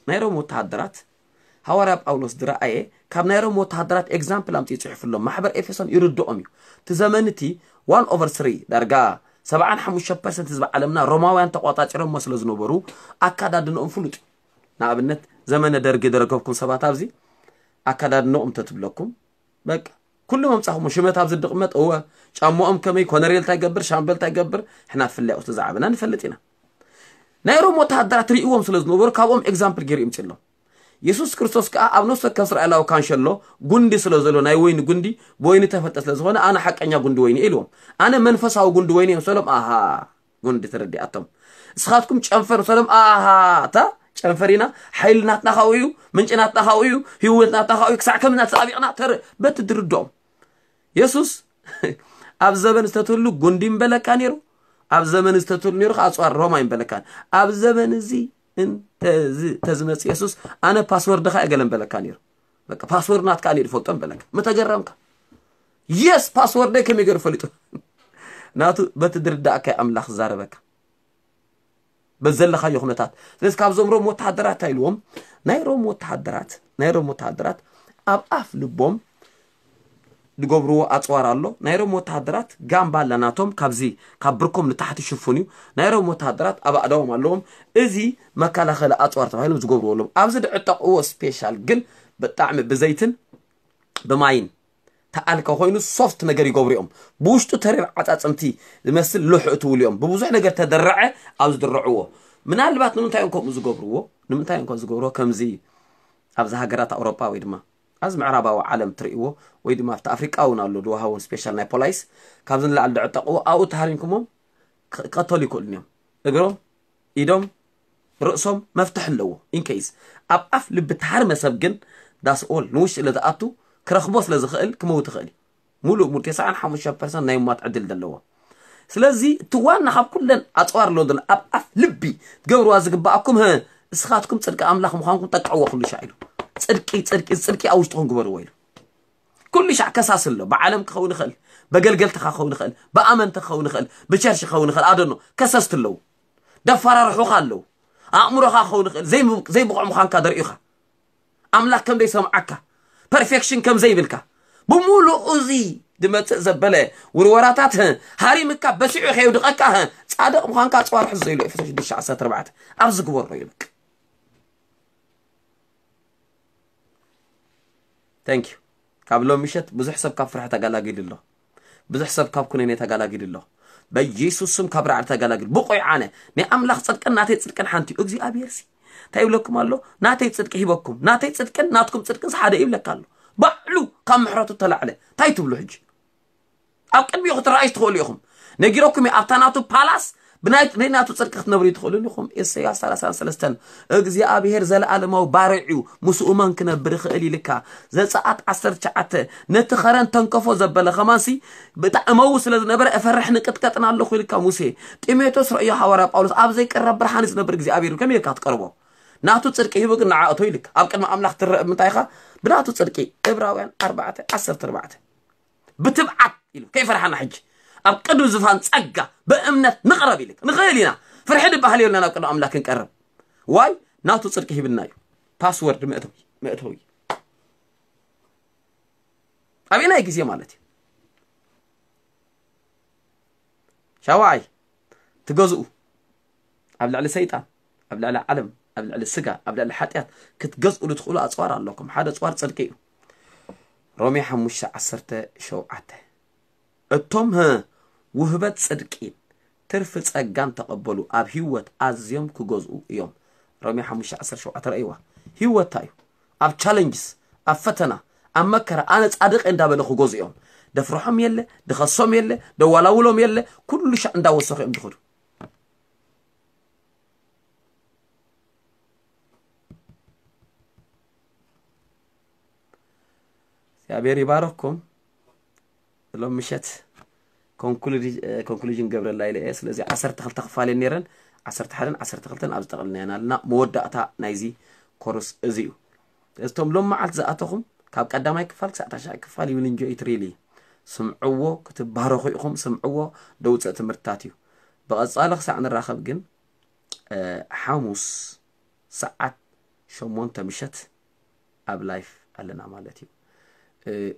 ናይ ሮም ወተሃደራት ሃዋርያ ጳውሎስ ዝረኣየ ካብ ናይ ሮም ወተሃደራት ኤግዛምፕል ኣምፅኡ ይፅሕፍሎም። ማሕበር ኤፌሶን ይርድኦም እዩ። እቲ ዘመን እቲ ዋን ኦቨር ስሪ ዳርጋ ሰብዓን ሓሙሽተ ፐርሰንት ህዝቢ ዓለምና ሮማውያን ተቆጻጺሮሞ ስለ ዝነበሩ ኣካዳድንኦም ፍሉጥ እዩ። ንኣብነት ዘመነ ደርጊ ዝረከብኩም ሰባት ኣብዚ ኣካዳድንኦም ተትብለኩም በቃ ኩሉ መምጻኹም ሽመት ኣብዚ ድቕመጥ እወ ጫማኦም ከመይ ኮነሬል እንታይ ገብር ሻምበል እንታይ ገብር ሕና ፍላይ ውስጥ ዝዓበና ንፈልጥ ኢና። ናይ ሮም ወተሃደራት ርእዎም ስለ ዝነበሩ ካብኦም ኤግዛምፕል ገይሩ ይምፅሎም። የሱስ ክርስቶስ ከኣ ኣብ ነፍሲ ወከፍ እስራኤላዊ ካንሸሎ ጉንዲ ስለ ዘሎ ናይ ወይኒ ጉንዲ ብወይኒ ተፈልጠ ስለ ዝኾነ ኣነ ሓቀኛ ጉንዲ ወይኒ እየ ኢልዎም። ኣነ መንፈሳዊ ጉንዲ ወይኒ እየ ምሰሎም ኣሃ ጉንዲ ተረዲኣቶም። እስኻትኩም ጨንፈር ምሰሎም ኣሃ እታ ጨንፈር ኢና ሓይሊ ናትና ካብኡ እዩ ምንጪ ናትና ካብኡ እዩ ህይወት ናትና ካብኡ እዩ ክሳዕ ከም ናተጣቢቕና ተር በቲ ድርድኦም የሱስ ኣብ ዘበን ዝተትህሉ ጉንዲ ይምበለካ ነይሩ። ኣብ ዘመን ዝተትህሉ ነይሩ ከዓ ኣፅዋር ሮማ ይምበለካ። ኣብ ዘመን እዚ እንተዝመፅ የሱስ ኣነ ፓስወርድኻ እየ ገለ ምበለካ ነይሩ። በቃ ፓስወርድ ናትካ ኣነ ይፈልጦ ምበለካ። ምተገረምካ የስ ፓስወርደይ ከመይ ገይሩ ፈሊጡ? ናቱ በቲ ድርዳእካ ኣምላኽ ዝዛረበካ በዘለኻዮ ኩነታት። ስለዚ ካብዞም ሮም ወተሃደራት እንታይ ኢልዎም? ናይ ሮም ወተሃደራት ናይ ሮም ወተሃደራት ኣብ ኣፍ ልቦም ዝገብርዎ ኣፅዋር ኣሎ። ናይ ሮም ወተሃደራት ጋምባ ኣላ ናቶም ካብዚ ካብ ብርኮም ንታሕቲ ሽፉን እዩ። ናይ ሮም ወተሃደራት ኣብ ኣእዳዎም ኣለዎም። እዚ መከላኸሊ ኣፅዋር ተባሂሎም ዝገብርዎ ኣለዎም። ኣብዚ ድዕጠቕዎ ስፔሻል ግን ብጣዕሚ ብዘይትን ብማይን ተኣልከ ኮይኑ ሶፍት ነገር ይገብሩ እዮም። ብውሽጡ ተሪር ዓጻጽምቲ ዝመስል ሉሕ እትውሉ እዮም። ብብዙሕ ነገር ተደረዐ ኣብ ዝድረዕዎ። ምናልባት ንምንታይ እዮም ከምኡ ዝገብርዎ? ንምንታይ እዮም ከምኡ ዝገብርዎ? ከምዚ ኣብዚ ሃገራት ኣውሮጳ ወይ ድማ ኣብዚ ምዕራባዊ ዓለም ትርእይዎ ወይ ድማ ኣብቲ ኣፍሪቃ እውን ኣሎ ድዋሃውን ስፔሻል ናይ ፖላይስ ካብዚ ንላዕሊ ድዕጠቕዎ ኣብኡ ተሃሪምኩሞም ክቐተሉ ይክእሉን እዮም። እግሮም፣ ኢዶም፣ ርእሶም መፍትሕ ኣለዎ። ኢንኬይስ ኣብ ኣፍ ልቢ ተሃርመ ሰብ ግን ዳስ ኦል ንውሽጢ ለዝኣቱ ክረኽቦ ስለ ዝኽእል ክመውት ይኽእል እዩ። ሙሉእ ሙሉ ተስዓን ሓሙሽተ ፐርሰንት ናይ ሟት ዕድል ዘለዎ። ስለዚ እቲ ዋና ካብ ኩለን ኣፅዋር ኣለዎ ዘሎ ኣብ ኣፍ ልቢ ትገብርዋ ዝግባኣኩም ህ እስኻትኩም ፅድቂ ኣምላኽ ምዃንኩም ጠቅዕዎ ኩሉ ሻዕ ኢሉ። ፅድቂ ፅድቂ ፅድቂ ኣብ ውሽጥኹም ግበርዎ ኢሉ። ኩሉ ሻዕ ከሳስ ኣሎ። ብዓለም ክኸውን ይኽእል፣ በገልገልትኻ ክኸውን ይኽእል፣ ብኣመንቲ ክኸውን ይኽእል፣ ብቸርች ክኸውን ይኽእል። ኣደኖ ከሰስቲ ኣለዉ። ደፈራርሑኻ ኣለዉ። ኣእምሮኻ ክኸውን ይኽእል፣ ዘይም- ዘይብቑዕ ምዃንካ ደርእዩኻ። ኣምላኽ ከም ዘይሰምዓካ፣ ፐርፌክሽን ከም ዘይብልካ፣ ብምሉኡ እዚ ዝመጽእ ዘበለ ውርወራታት ሃሪምካ በሲዑ ከየውድቐካ ጻድቕ ምዃንካ ኣጽዋር ሕዞ ኢሉ ኤፌሶ ሽዱሽተ ዓሰርተ ኣርባዕተ ኣብዚ ግበሮ ኢሉ። Thank you። ካብ ሎም ምሸት ብዙሕ ሰብ ካብ ፍርሒ ተጋላጊሉ ኣሎ። ብዙሕ ሰብ ካብ ኩነኔ ተጋላጊሉ ኣሎ። በኢየሱስ ስም ካብ ራዕዲ ተጋላጊሉ። ብቑዕ ኣነ ናይ ኣምላኽ ጽድቅን ናተይ ጽድቅን ሓንቲ እዩ። እግዚኣብሔር ሲ እንታይ ይብለኩም ኣሎ? ናተይ ጽድቂ ሂበኩም። ናተይ ጽድቅን ናትኩም ጽድቅን ሓደ ይብለካ ኣሎ። ባዕሉ ካብ ምሕረቱ ተላዕለ እንታይ ትብሉ ሕጂ? ኣብ ቅድሚኡ ክትረኣዩ ትኽእሉ ኢኹም። ነጊረኩም እየ፣ ኣብታ ናቱ ፓላስ ብናይ ናይ ናቱ ጽድቂ ክትነብሩ ትኽእሉ ኢኹም። ኢሳያስ ሰላሳን ሰለስተን እግዚኣብሔር ዘለኣለማዊ ባርዕ እዩ፣ ምስኡ መን ክነብር ይኽእል ኢልካ። ዘጸኣት ዓሰርተ ትሽዓተ ነቲ ኸረን ተንከፎ ዘበለ ኸማንሲ ብጣዕመዊ ስለ ዝነበረ እፈርሕ ንቅጥቀጥን ኣለኹ ኢልካ ሙሴ። ጢሞቴዎስ ረእዮ ሃዋርያ ጳውሎስ ኣብ ዘይቀረብ ብርሃን ዝነብር እግዚኣብሔር እዩ፣ ከመይ ኢልካ ትቀርቦ? ናቱ ጽድቂ ሂቡ ግን ንዓእቶ ኢልካ ኣብ ቅድሚ ኣምላኽ ትረአ ብምንታይ ኢኻ? ብናቱ ጽድቂ። ዕብራውያን ኣርባዕተ ዓሰርተ ኣርባዕተ። ብትብዓት ኢሉ ከይፈርሓና ሕጂ ኣብ ቅድሚ ዝፋን ጸጋ ብእምነት ንቕረብ ኢሉ ንኽእል ኢና። ፍርሒ ድበሃል የብልና ናብ ቅድሚ ኣምላክ ክንቀርብ። ዋይ ናቱ ጽድቂ ሂብና እዩ። ፓስወርድ መእተዊ መእተዊ ኣበየናይ ግዜ ማለት እዩ። ሻውዓይ ትገዝኡ ኣብ ልዕሊ ሰይጣን፣ ኣብ ልዕሊ ዓለም፣ ኣብ ልዕሊ ስጋ፣ ኣብ ልዕሊ ሓጢኣት ክትገዝእሉ ትኽእሉ ኣፅዋር ኣለኩም። ሓደ ኣፅዋር ጽድቂ እዩ። ሮሜ ሓሙሽተ ዓሰርተ ሸውዓተ። እቶም ህ ውህበት ጽድቂን ትርፊ ጸጋን ተቐበሉ ኣብ ህይወት ኣዝዮም ክገዝኡ እዮም። ሮሜ ሓሙሽተ ዓሰርተ ሸውዓተ ረእይዋ። ህይወት እንታይ እዩ? ኣብ ቻለንጅስ፣ ኣብ ፈተና፣ ኣብ መከራ ኣነ ጻድቕ እየ እንዳበለ ክገዝኡ እዮም። ደፍርሖም የለ፣ ድኸሶም የለ፣ ደዋላውሎም የለ፣ ኩሉ ሻዕ እንዳወሰኹ እዮም ዝኸዱ። እግዚኣብሔር ይባረኩም። ሎም ምሸት ኮንክሉዥን ገብረላ ኢለ እየ። ስለዚ ዓሰርተ ክልተ ክፋል እየን ነይረን፣ ዓሰርተ ሓደን ዓሰርተ ክልተን ኣብ ዝጠቕልናየን ኣለና። መወዳእታ ናይዚ ኮርስ እዚ እዩ። እቶም ሎም መዓልቲ ዝኣተኹም ካብ ቀዳማይ ክፋል ክሳዕ ታሽዓይ ክፋል ይውን እንጆ ኢት ሪሊ ስምዕዎ፣ ክትባረኹ ኢኹም። ስምዕዎ፣ ደውፅእ ትምህርትታት እዩ። ብቐጻሊ ክሳዕ ንራኸብ ግን ሓሙስ ሰዓት ሸሞንተ ምሸት ኣብ ላይፍ ኣለና ማለት እዩ።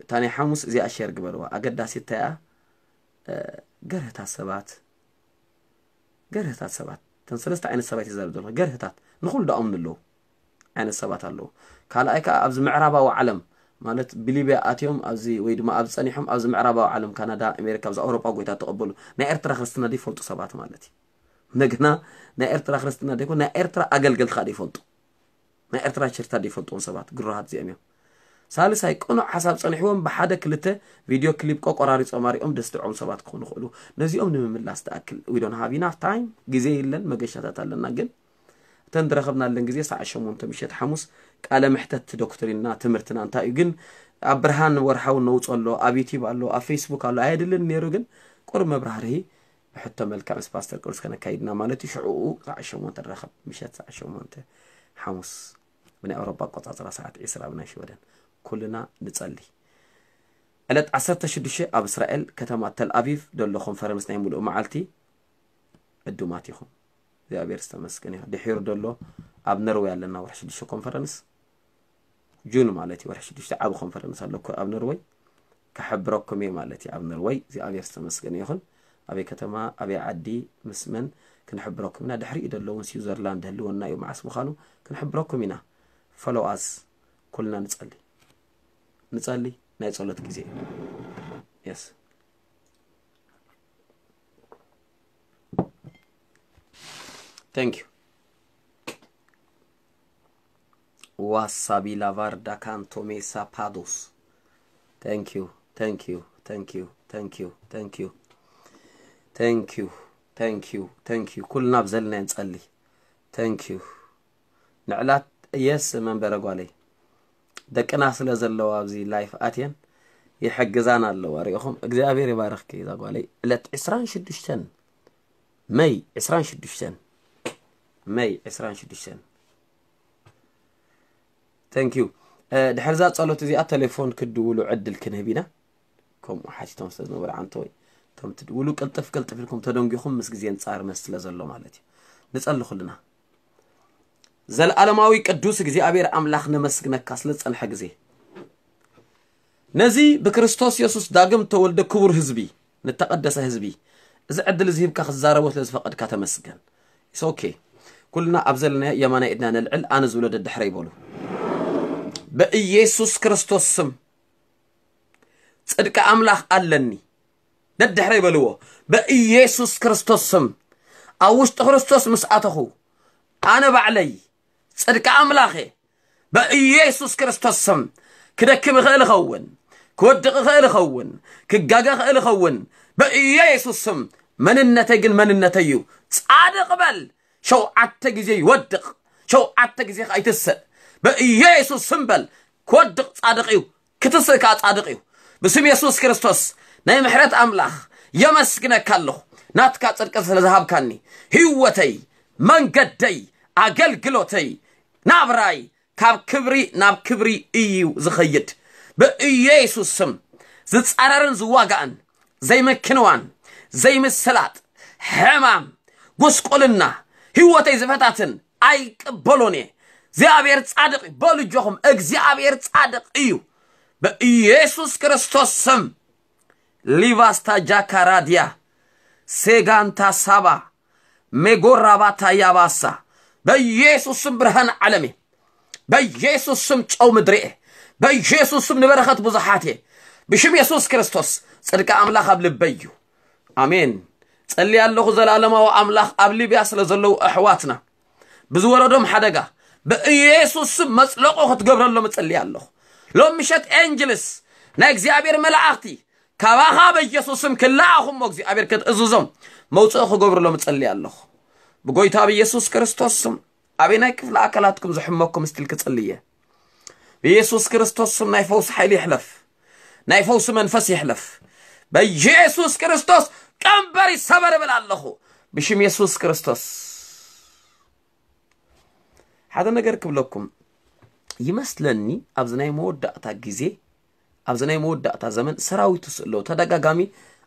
እታ ናይ ሓሙስ እዚኣ ሸር ግበርዋ። ኣገዳሲት እንታይ እያ? ገርህታት ሰባት፣ ገርህታት ሰባት፣ እተን ሰለስተ ዓይነት ሰባት ይዛረብ ዘለኹ። ገርህታት ንኹሉ ዳኦም ንለዉ ዓይነት ሰባት ኣለዉ። ካልኣይ ከዓ ኣብዚ ምዕራባዊ ዓለም ማለት ብሊብያ ኣትዮም ኣብዚ ወይ ድማ ኣብዚ ጸኒሖም ኣብዚ ምዕራባዊ ዓለም ካናዳ፣ ኣሜሪካ፣ ኣብዚ ኣውሮጳ ጎይታ ተቐበሉ ናይ ኤርትራ ክርስትና ዘይፈልጡ ሰባት ማለት እዩ። እንደገና ናይ ኤርትራ ክርስትና ዘይኮን ናይ ኤርትራ ኣገልገልቲ ከዓ ዘይፈልጡ ናይ ኤርትራ ቸርታ ዘይፈልጥዎም ሰባት ግሩሃት እዚኦም እዮም። ሳልሳይ ቅኑዕ ሓሳብ ጸኒሕዎም ብሓደ ክልተ ቪድዮ ክሊፕ ቆቆራሪጾም ኣሪኦም ደስድዖም ሰባት ክኾኑ ይኽእሉ። ነዚኦም ንምምላስ ትኣክል we don't have enough time፣ ግዜ የለን፣ መገሻታት ኣለና። ግን እተን ዝረኸብናለን ግዜ ሰዓት ሸሞንተ ምሸት ሓሙስ ቃለ ምሕተት ዶክትሪንና ትምህርትና እንታይ እዩ ግን ኣብ ብርሃን ወርሓዊ ነውጾ ኣሎ፣ ኣብ ዩቲዩብ ኣሎ፣ ኣብ ፌስቡክ ኣሎ ኣየድልን ነይሩ። ግን ቁሩብ መብራህርሂ ብሕቶ መልክዕ ምስ ፓስተር ቅዱስ ከነካይድና ማለት እዩ። ሽዕኡ ሰዓት ሸሞንተ ንራኸብ፣ ምሸት ሰዓት ሸሞንተ ሓሙስ ብናይ ኣውሮፓ ኣቆጻጽራ ሰዓት ዕስራ ብናይ ሽወደን። ኩልና ንጸሊ። ዕለት ዓሰርተ ሽዱሽተ ኣብ እስራኤል ከተማ ተል ኣቪቭ ደሎ ኮንፈረንስ ናይ ሙሉእ መዓልቲ ዕዱማት ኢኹም። እግዚኣብሔር ዝተመስገን እዩ። ድሒሩ ደሎ ኣብ ነርወይ ኣለና ወርሒ ሽዱሽተ ኮንፈረንስ ጁን ማለት እዩ። ወርሒ ሽዱሽተ ዓቢ ኮንፈረንስ ኣለኩ ኣብ ነርወይ። ከሕብረኩም እየ ማለት እዩ። ኣብ ነርወይ እግዚኣብሔር ዝተመስገነ ይኹን። ኣበይ ከተማ ኣበይ ዓዲ ምስ መን ክንሕብረኩም ኢና። ድሕሪኡ ደሎ እውን ስዊዘርላንድ ህልወና እዩ። መዓስ ምዃኑ ክንሕብረኩም ኢና። ፎሎው ኣስ። ኩልና ንጸሊ ንጸሊ። ናይ ጸሎት ግዜ እዩ። Yes. Thank you. ዋሳቢ ላቫርዳ ካንቶሜሳ ፓዶስ። Thank you. Thank you. Thank you. Thank you. Thank you. Thank you. Thank you. Thank you. ኩልና ብዘለና ንጸሊ። Thank you. ንዕላት የስ መንበረ ጓለይ ደቅና ስለ ዘለዋ ኣብዚ ላይፍ ኣትየን ይሕግዛን ኣለዋ። ሪኢኹም እግዚኣብሔር ይባርኽኪ እዛ ጓለይ። ዕለት ዕስራን ሽዱሽተን መይ ዕስራን ሽዱሽተን መይ ዕስራን ሽዱሽተን Thank you. ድሕርዛ ጸሎት እዚኣ ቴሌፎን ክድውሉ ዕድል ክንህብ ኢና። ከምኡ ሓቲቶም ስለ ዝነበሩ ዓንተወይ እቶም ትድውሉ ቅልጥፍ ቅልጥፍ ኢልኩም ተደንጊኹም ምስ ግዜ ንጻር መስ ስለ ዘሎ ማለት እዩ። ንጸሊ ኩልና። ዘለዓለማዊ ቅዱስ እግዚኣብሔር ኣምላኽ ነመስግነካ ስለ ዝጸንሐ ግዜ ነዚ ብክርስቶስ የሱስ ዳግም ተወልደ ክቡር ህዝቢ ንተቐደሰ ህዝቢ እዚ ዕድል እዚ ሂብካ ክዛረቦ ስለ ዝፈቐድካ ተመስገን። It's okay. ኩልና ኣብ ዘለናዮ የማናይ ኢድና ነልዕል ኣነ ዝብሎ ደድሕረ ይበሉ። በኢየሱስ ክርስቶስ ስም ጽድቂ ኣምላኽ ኣለኒ። ደድሕረ ይበልዎ። በኢየሱስ ክርስቶስ ስም ኣብ ውሽጢ ክርስቶስ ምስ ኣተኹ ኣነ ባዕለይ ጽድቂ ኣምላኽ እየ። በኢየሱስ ክርስቶስ ስም ክደክም እኽእል እኸውን፣ ክወድቕ እኽእል እኸውን፣ ክጋገ እኽእል እኸውን። በኢየሱስ ስም መንነተይ ግን መንነተይ እዩ። ጻድቕ በል ሸውዓተ ግዜ ይወድቕ፣ ሸውዓተ ግዜ ከዓ ይትስእ። በኢየሱስ ስም በል ክወድቕ ጻድቕ እዩ። ክትስእ ከኣ ጻድቕ እዩ። ብስም የሱስ ክርስቶስ ናይ ምሕረት ኣምላኽ የመስግነካ ኣለኹ። ናትካ ጽድቂ ስለ ዝሃብካኒ ህይወተይ፣ መንገደይ፣ ኣገልግሎተይ፣ ናብራይ ካብ ክብሪ ናብ ክብሪ እዩ ዝኸይድ። ብኢየሱስ ስም ዝጻረርን ዝዋጋእን ዘይምክንዋን ዘይምስላጥ ሕማም ጉስቁልና ህይወተይ ዝፈታትን ኣይቅበሎን እየ። እግዚኣብሔር ጻድቕ እዩ። በሉ እጆኹም፣ እግዚኣብሔር ጻድቕ እዩ። በኢየሱስ ክርስቶስ ስም ሊቫስታ ጃካራድያ ሴጋንታ ሳባ ሜጎራባታ ያባሳ በኢየሱስ ስም ብርሃን ዓለም እየ። በኢየሱስ ስም ጨው ምድሪ እየ። በኢየሱስ ስም ንበረኸት ብዙሓት እየ። ብሽም የሱስ ክርስቶስ ጽድቂ ኣምላኽ ኣብ ልበይ እዩ። ኣሜን። ጸልየ ኣለኹ። ዘላለማዊ ኣምላኽ ኣብ ሊብያ ስለ ዘለዉ ኣሕዋትና ብዝወረዶም ሓደጋ ብኢየሱስ ስም መጽለቑ ክትገብረሎም እጸልየ ኣለኹ። ሎም ምሸት ኤንጅልስ ናይ እግዚኣብሔር መላእኽቲ ካባኻ በኢየሱስ ስም ክለኣኹ እሞ እግዚኣብሔር ክትእዝዞም መውፅኢ ክገብርሎም እጸልየ ኣለኹ። ብጎይታ ብኢየሱስ ክርስቶስ ስም ኣበይ ናይ ክፍሊ ኣካላትኩም ዝሕመኩም ስቲል ክጽልየ ብኢየሱስ ክርስቶስ ስም ናይ ፈውስ ሓይሊ ይሕለፍ። ናይ ፈውሲ መንፈስ ይሕለፍ። በኢየሱስ ክርስቶስ ቀንበር ይሰበር እብል ኣለኹ። ብሽም የሱስ ክርስቶስ ሓደ ነገር ክብለኩም ይመስለኒ። ኣብዚ ናይ መወዳእታ ግዜ ኣብዚ ናይ መወዳእታ ዘመን ሰራዊቱ ስእለው ተደጋጋሚ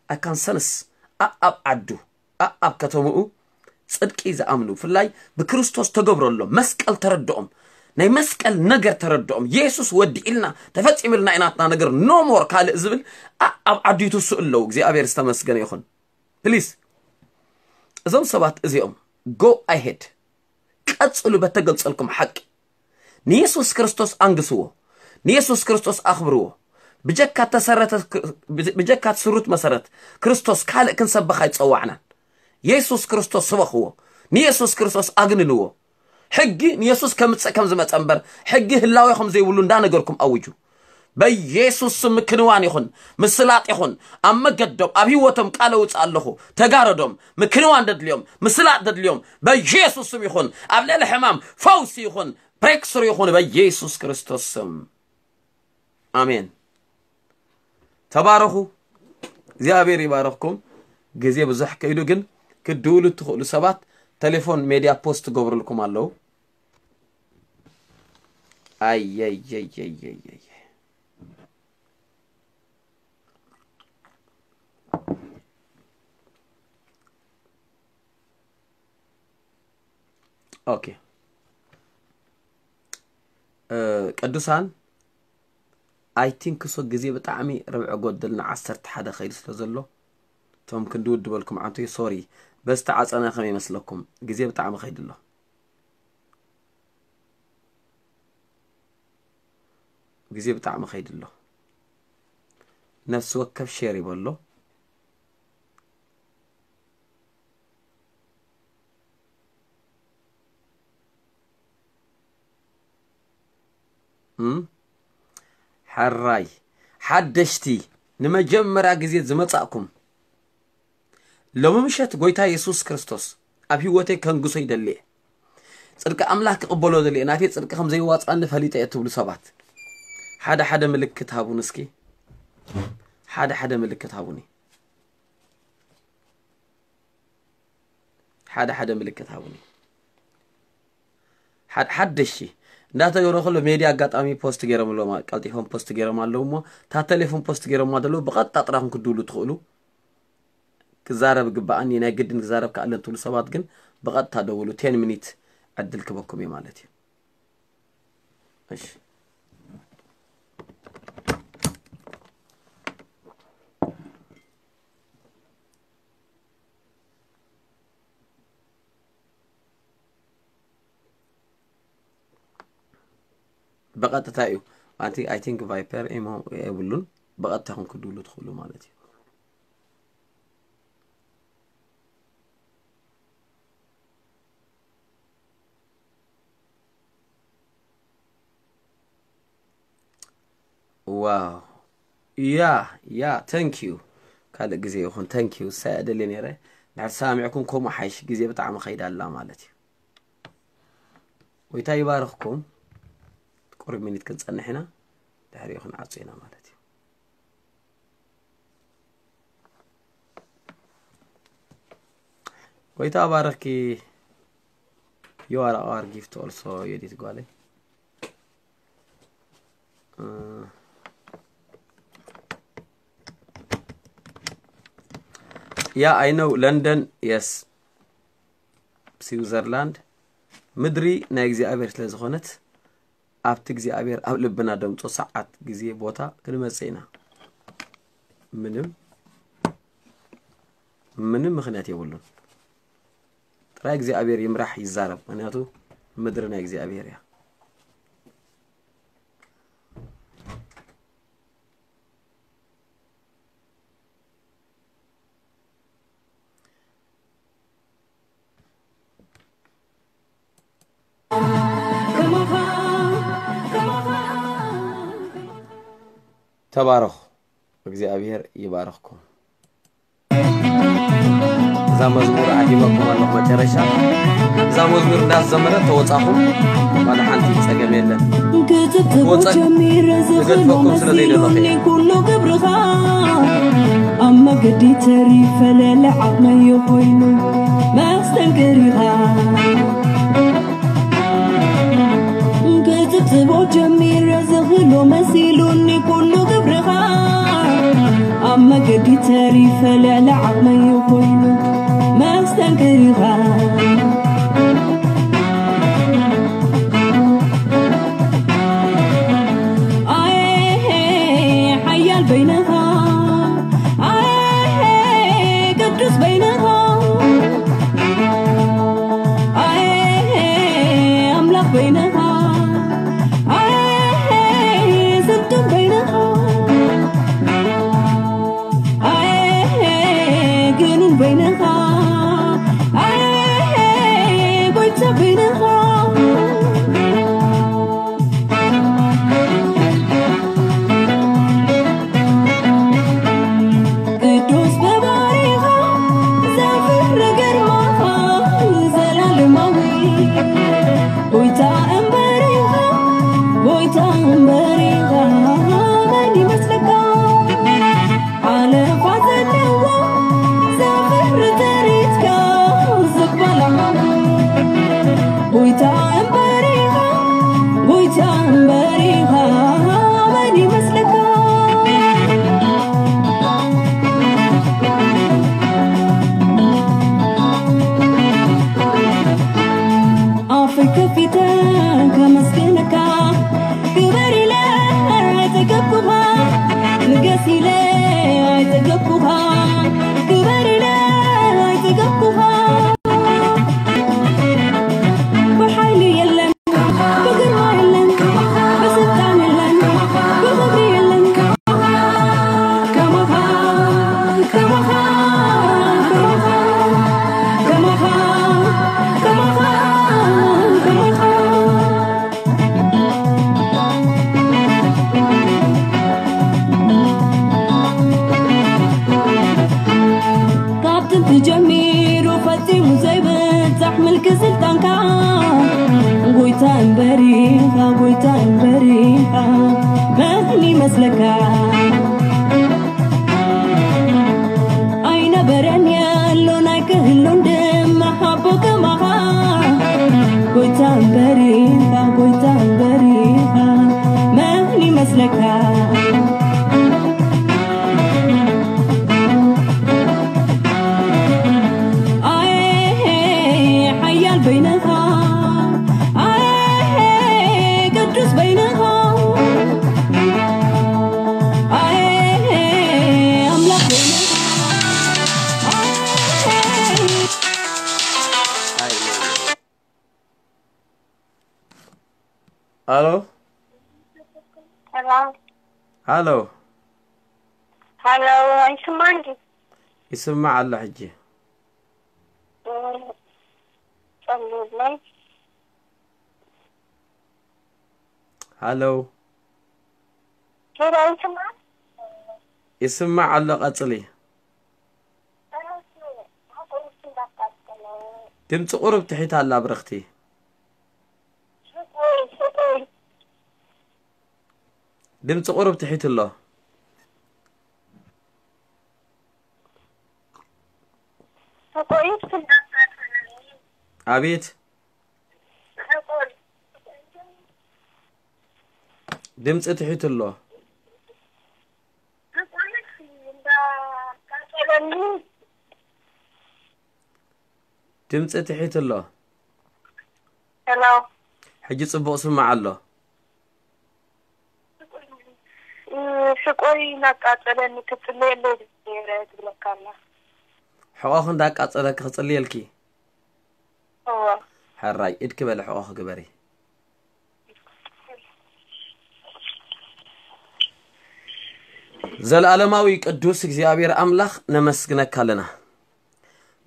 ኣካንሰንስ ኣብ ዓዱ ኣብ ከተምኡ ጽድቂ ዝኣምኑ ብፍላይ ብክርስቶስ ተገብረሎም መስቀል ተረድኦም ናይ መስቀል ነገር ተረድኦም የሱስ ወዲእልና ተፈጺምልና ኢናትና ነገር ኖሞር ካልእ ዝብል ኣብ ዓዲቱ ስእለው እግዚኣብሔር ዝተመስገነ ይኹን። ፕሊስ እዞም ሰባት እዚኦም go ahead ቀጽሉ በተገልጸልኩም ሓቂ ንየሱስ ክርስቶስ ኣንግስዎ። ንየሱስ ክርስቶስ ኣኽብርዎ። ብጀካ ተሰረተ ብጀካ ትስሩት መሰረት ክርስቶስ ካልእ ክንሰብኽ ኣይጸዋዕናን። የሱስ ክርስቶስ ስበኽዎ። ንየሱስ ክርስቶስ ኣግንንዎ። ሕጊ ንየሱስ ከምጽእ ከም ዝመጸ እምበር ሕጊ ህላዌ ከም ዘይብሉ እንዳነገርኩም ኣውጁ። በኢየሱስ ስም ምክንዋን ይኹን ምስላጥ ይኹን ኣብ መገዶም ኣብ ህይወቶም ቃለ ውፅእ ኣለኹ። ተጋረዶም ምክንዋን ደድልዮም ምስላጥ ደድልዮም በኢየሱስ ስም ይኹን ኣብ ልዕሊ ሕማም ፈውሲ ይኹን ብሬክስሩ ይኹን በኢየሱስ ክርስቶስ ስም ኣሜን። ተባረኹ። እግዚኣብሔር ይባረኽኩም። ግዜ ብዙሕ ከይዱ ግን ክድውሉ እትኽእሉ ሰባት ቴሌፎን ሜድያ ፖስት ትገብሩልኩም ኣለዉ። ኣየየየየየ ኦኬ ቅዱሳን ኣይ ቲንክ ሶ ግዜ ብጣዕሚ ርብዒ ጎደልና ዓሰርተ ሓደ ከይዱ ስለ ዘሎ እቶም ክንዲ ውድበልኩም ዓንቶ ሶሪ በዝተዓፀና ከመይ ይመስለኩም ግዜ ብጣዕሚ ከይዱ ኣሎ ግዜ ብጣዕሚ ከይዱ ኣሎ ነፍሲ ወከፍ ሼር ይበሎ። እም? ሕራይ ሓደሽቲ ንመጀመርያ ግዜ ዝመጻእኩም፣ ሎሚ ምሸት ጎይታ የሱስ ክርስቶስ ኣብ ህይወተይ ከንግሶ ይደሊ እየ። ጽድቂ ኣምላኽ ክቕበሎ ደሊ እየ። ናተይ ጽድቂ ከም ዘይዋጽኣኒ ፈሊጠ እየ ትብሉ ሰባት፣ ሓደ ሓደ ምልክት ሃቡኒ እስኪ። ሓደ ሓደ ምልክት ሃቡኒ። ሓደ ሓደ ምልክት ሃቡኒ። ሓድ-፣ ሓደሽቲ እንዳተገብረ ከሎ ሜድያ ኣጋጣሚ ፖስት ገይሮም ኣለዉ፣ ቀልጢፎም ፖስት ገይሮም ኣለዉ እሞ፣ እታ ቴሌፎን ፖስት ገይሮማ ዘለዉ ብቐጥታ ጥራኹም ክድውሉ ትኽእሉ። ክዛረብ ግባኣኒ፣ ናይ ግድን ክዛረብ ክኣለን ትብሉ ሰባት ግን ብቐጥታ ደውሉ። ቴን ሚኒት ዕድል ክበኩም እዩ ማለት እዩ። እሺ። ብቐጥታ እዩ። ኣንቲ፣ I think ቫይፐር ኢሞ የብሉን። ብቐጥታ ኹን ክድውሉ ትኽእሉ ማለት እዩ። ዋው። ያ፣ ያ፣ thank you። ካልእ ግዜ ይኹን፣ thank you። ሳይ ኣደልየ ነይረ። ድሕር ሰማሚዕኩም ከምኡ ሓይሽ፣ ግዜ ብጣዕሚ ኸይዳ ኣላ ማለት እዩ። ጎይታ ይባርኽኩም። ቁሩብ ሚኒት ክንጸንሕ ኢና። ድሕሪኡ ክንዓጹ ኢና ማለት እዩ። ጎይታ ባረኽኪ። You are our gift also, የዲት ጓለይ። Uh, yeah, I know. London, yes. ስዊዘርላንድ ምድሪ ናይ እግዚኣብሔር ስለ ዝኾነት፣ ኣብቲ እግዚኣብሔር ኣብ ልብና ደምጾ ሰዓት፣ ግዜ፣ ቦታ ክንመጽእ ኢና። ምንም፣ ምንም ምኽንያት የብሉን። ጥራይ እግዚኣብሔር ይምራሕ፣ ይዛረብ። ምኽንያቱ ምድሪ ናይ እግዚኣብሔር እያ። ተባረኹ። እግዚኣብሔር ይባርኽኩም። እዛ መዝሙር ዓዲመኩም ኣለኹ። መጨረሻ እዛ መዝሙር እንዳዘመረ ተወጻኹም፣ ዋላ ሓንቲ ጸገም የለን። ክትብትቦ ክወጸ-፣ ጀሚረ ዝኽእሎ ክገድፈኩም ስለ ዘይደለኹ እየ። መሲሉኒ ኩሉ ግብርኻ፣ ኣብ መገዲ ተሪፈ ልዕሊ ዓቕመይ ኮይኑ መስተንክር ኢኻ። ክትብትቦ ጀሚረ ዝኽእሎ መሲሉኒ ኩሉ ግብርኻ፣ ኣብ መገዲ ተሪፈ ልዕሊ ዓቕመይ ኮይኑ መስተንክር ኢኻ። ኣየ ሓያል በይንኻ፣ ኣየ ቅዱስ በይንኻ፣ ኣየ ኣምላኽ በይንኻ፣ ኣየ ስልጡን በይንኻ፣ ኣየ ግኑን በይንኻ፣ ኣየ ጎይታ በይንኻ። ቅዱስ በባሪኻ ዘፍር ግርማኻ ዘላለማዊ፣ ጎይታ እምበር ኢኻ፣ ጎይታ እምበር ኢኻ፣ መን ይመስለካ? ሓለፋ ዘለዎ ዘፍር ትርኢትካ ዝበላ፣ ጎይታ እምበር ኢኻ፣ ጎይታ እምበር ኢኻ፣ መን ይመስለካ? ኣፈይ ከፊተ ከመስግነካ፣ ክበር ኢለ ኣይጸገብኩኻ፣ ንገስ ኢለ ኣይጸገብኩኻ፣ ክበር ኢለ ኣይጸገብኩኻ። ብሓይሊ የለን፣ ብግርማ የለን፣ ኢኻ ጎይታ እምበር ኢኻ መን ይመስለካ? ኣይነበረን የሎን ኣይክህሉን ድማ ሓቦ ከማኻ። ጎይታ እምበር ኢኻ፣ ጎይታ እምበር ኢኻ መን ይመስለካ? ኣየ ሓያል በይንኻ፣ ኣየ ቅዱስ በይንኻ፣ ኣየ ኣምላኽ በይንኻ፣ ኣየ ኣሎ ሄሎ ኣሎ ሄሎ፣ ኣይስማዕን ድዩ? ይስማዕ ኣሎ ሕጂ። ጸልዩለይ። ሃሎ ሄሎ፣ ኣይስማዕ? ይስማዕ ኣሎ፣ ቀጽሊ። ድምፂ ቁሩብ ትሒት ኣላ ብርኽቲ። ድምፂ ቁሩብ ትሒት ኣሎ። ኣቤት። ድምፂ ትሒት ኣሎ። ድምፂ ትሒት ኣሎ። ሄሎ ሕጂ ፅቡቕ ስማዕ ኣሎ። ሽቆይ እናቃጸለኒ ክትጽልየለይ ነይረ ትብለካ ኣላ። ሕቆኺ እንዳቃፀለኪ ክፅልየልኪ። እወ ሕራይ ኢድኪ በለ ሕቆኺ ግበሪ። ዘለኣለማዊ ቅዱስ እግዚኣብሔር ኣምላኽ ነመስግነካ ኣለና።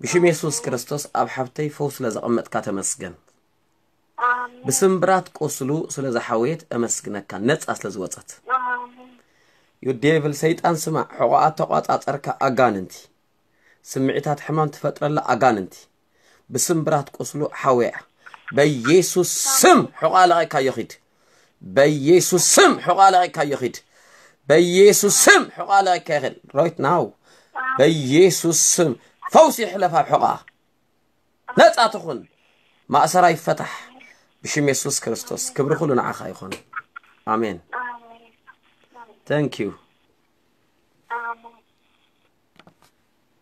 ብሽም የሱስ ክርስቶስ ኣብ ሓብተይ ፈውስ ስለ ዘቐመጥካ ተመስገን። ኣሜን ብስምብራት ቁስሉ ስለ ዝሓወየት እመስግነካ፣ ነጻ ስለ ዝወጸት። ኣሜን ዩ ዴቭል ሰይጣን ስማዕ፣ ሕቆኣ ተቋጻጸርካ ኣጋንንቲ፣ ስምዒታት ሕማም ትፈጥረላ ኣጋንንቲ ብስምብራት ቁስሉ ሓወያ። በኢየሱስ ስም ሕቆኣ ለቒካዮ ኺድ። በኢየሱስ ስም ሕቆኣ ለቒካዮ ኺድ። በኢየሱስ ስም ሕቆኣ ለቒካዮ ኺድ። ራይት ናው በኢየሱስ ስም ፈውሲ ይሕለፍ ኣብ ሕቆኣ። ነጻ ትኹን፣ ማእሰራ ይፈታሕ ብሽም የሱስ ክርስቶስ። ክብሪ ኩሉ ንዓኻ ይኹን። ኣሜን። ኣሜን Thank you። ኣሜን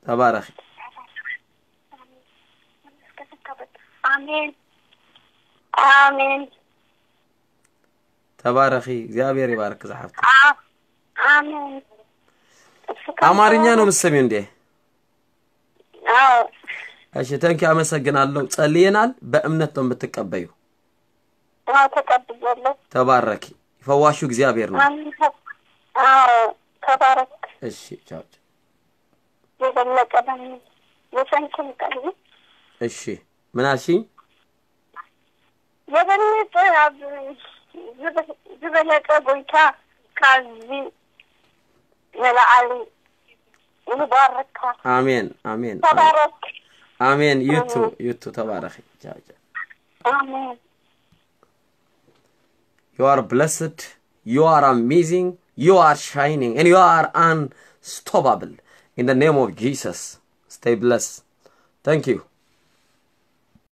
ተባረኺ። ኣሜን ኣሜን ተባረኺ። እግዚኣብሔር ይባርክ ዝሓፍቲ። ኣ- ኣሜን። እስከ ኣማርኛ ነው የምትሰሚው እንዴ? አዎ እሺ፣ thank you፣ አመሰግናለሁ። ጸልየናል። በእምነት ነው የምትቀበዩ። አዎ ተቀብያለሁ። ተባረኪ። ፈዋሹ እግዚአብሔር ነው። አሜን። አዎ ተባረክ። እሺ፣ ቻው ቻው። የበለጠ ደግሞ የሰንክም ቀን እሺ፣ ምን አልሽኝ? የበለጠ ኣብ ዝበ- ዝበለጠ ጎይታ ካብዚ ንላዕሊ ይባርካ። አሜን፣ አሜን፣ ተባረክ። አሜን። You too፣ you too፣ ተባረኪ። ቻው ቻው። አሜን። You are blessed. You are amazing. You are shining. And you are unstoppable. In the name of Jesus. Stay blessed. Thank you.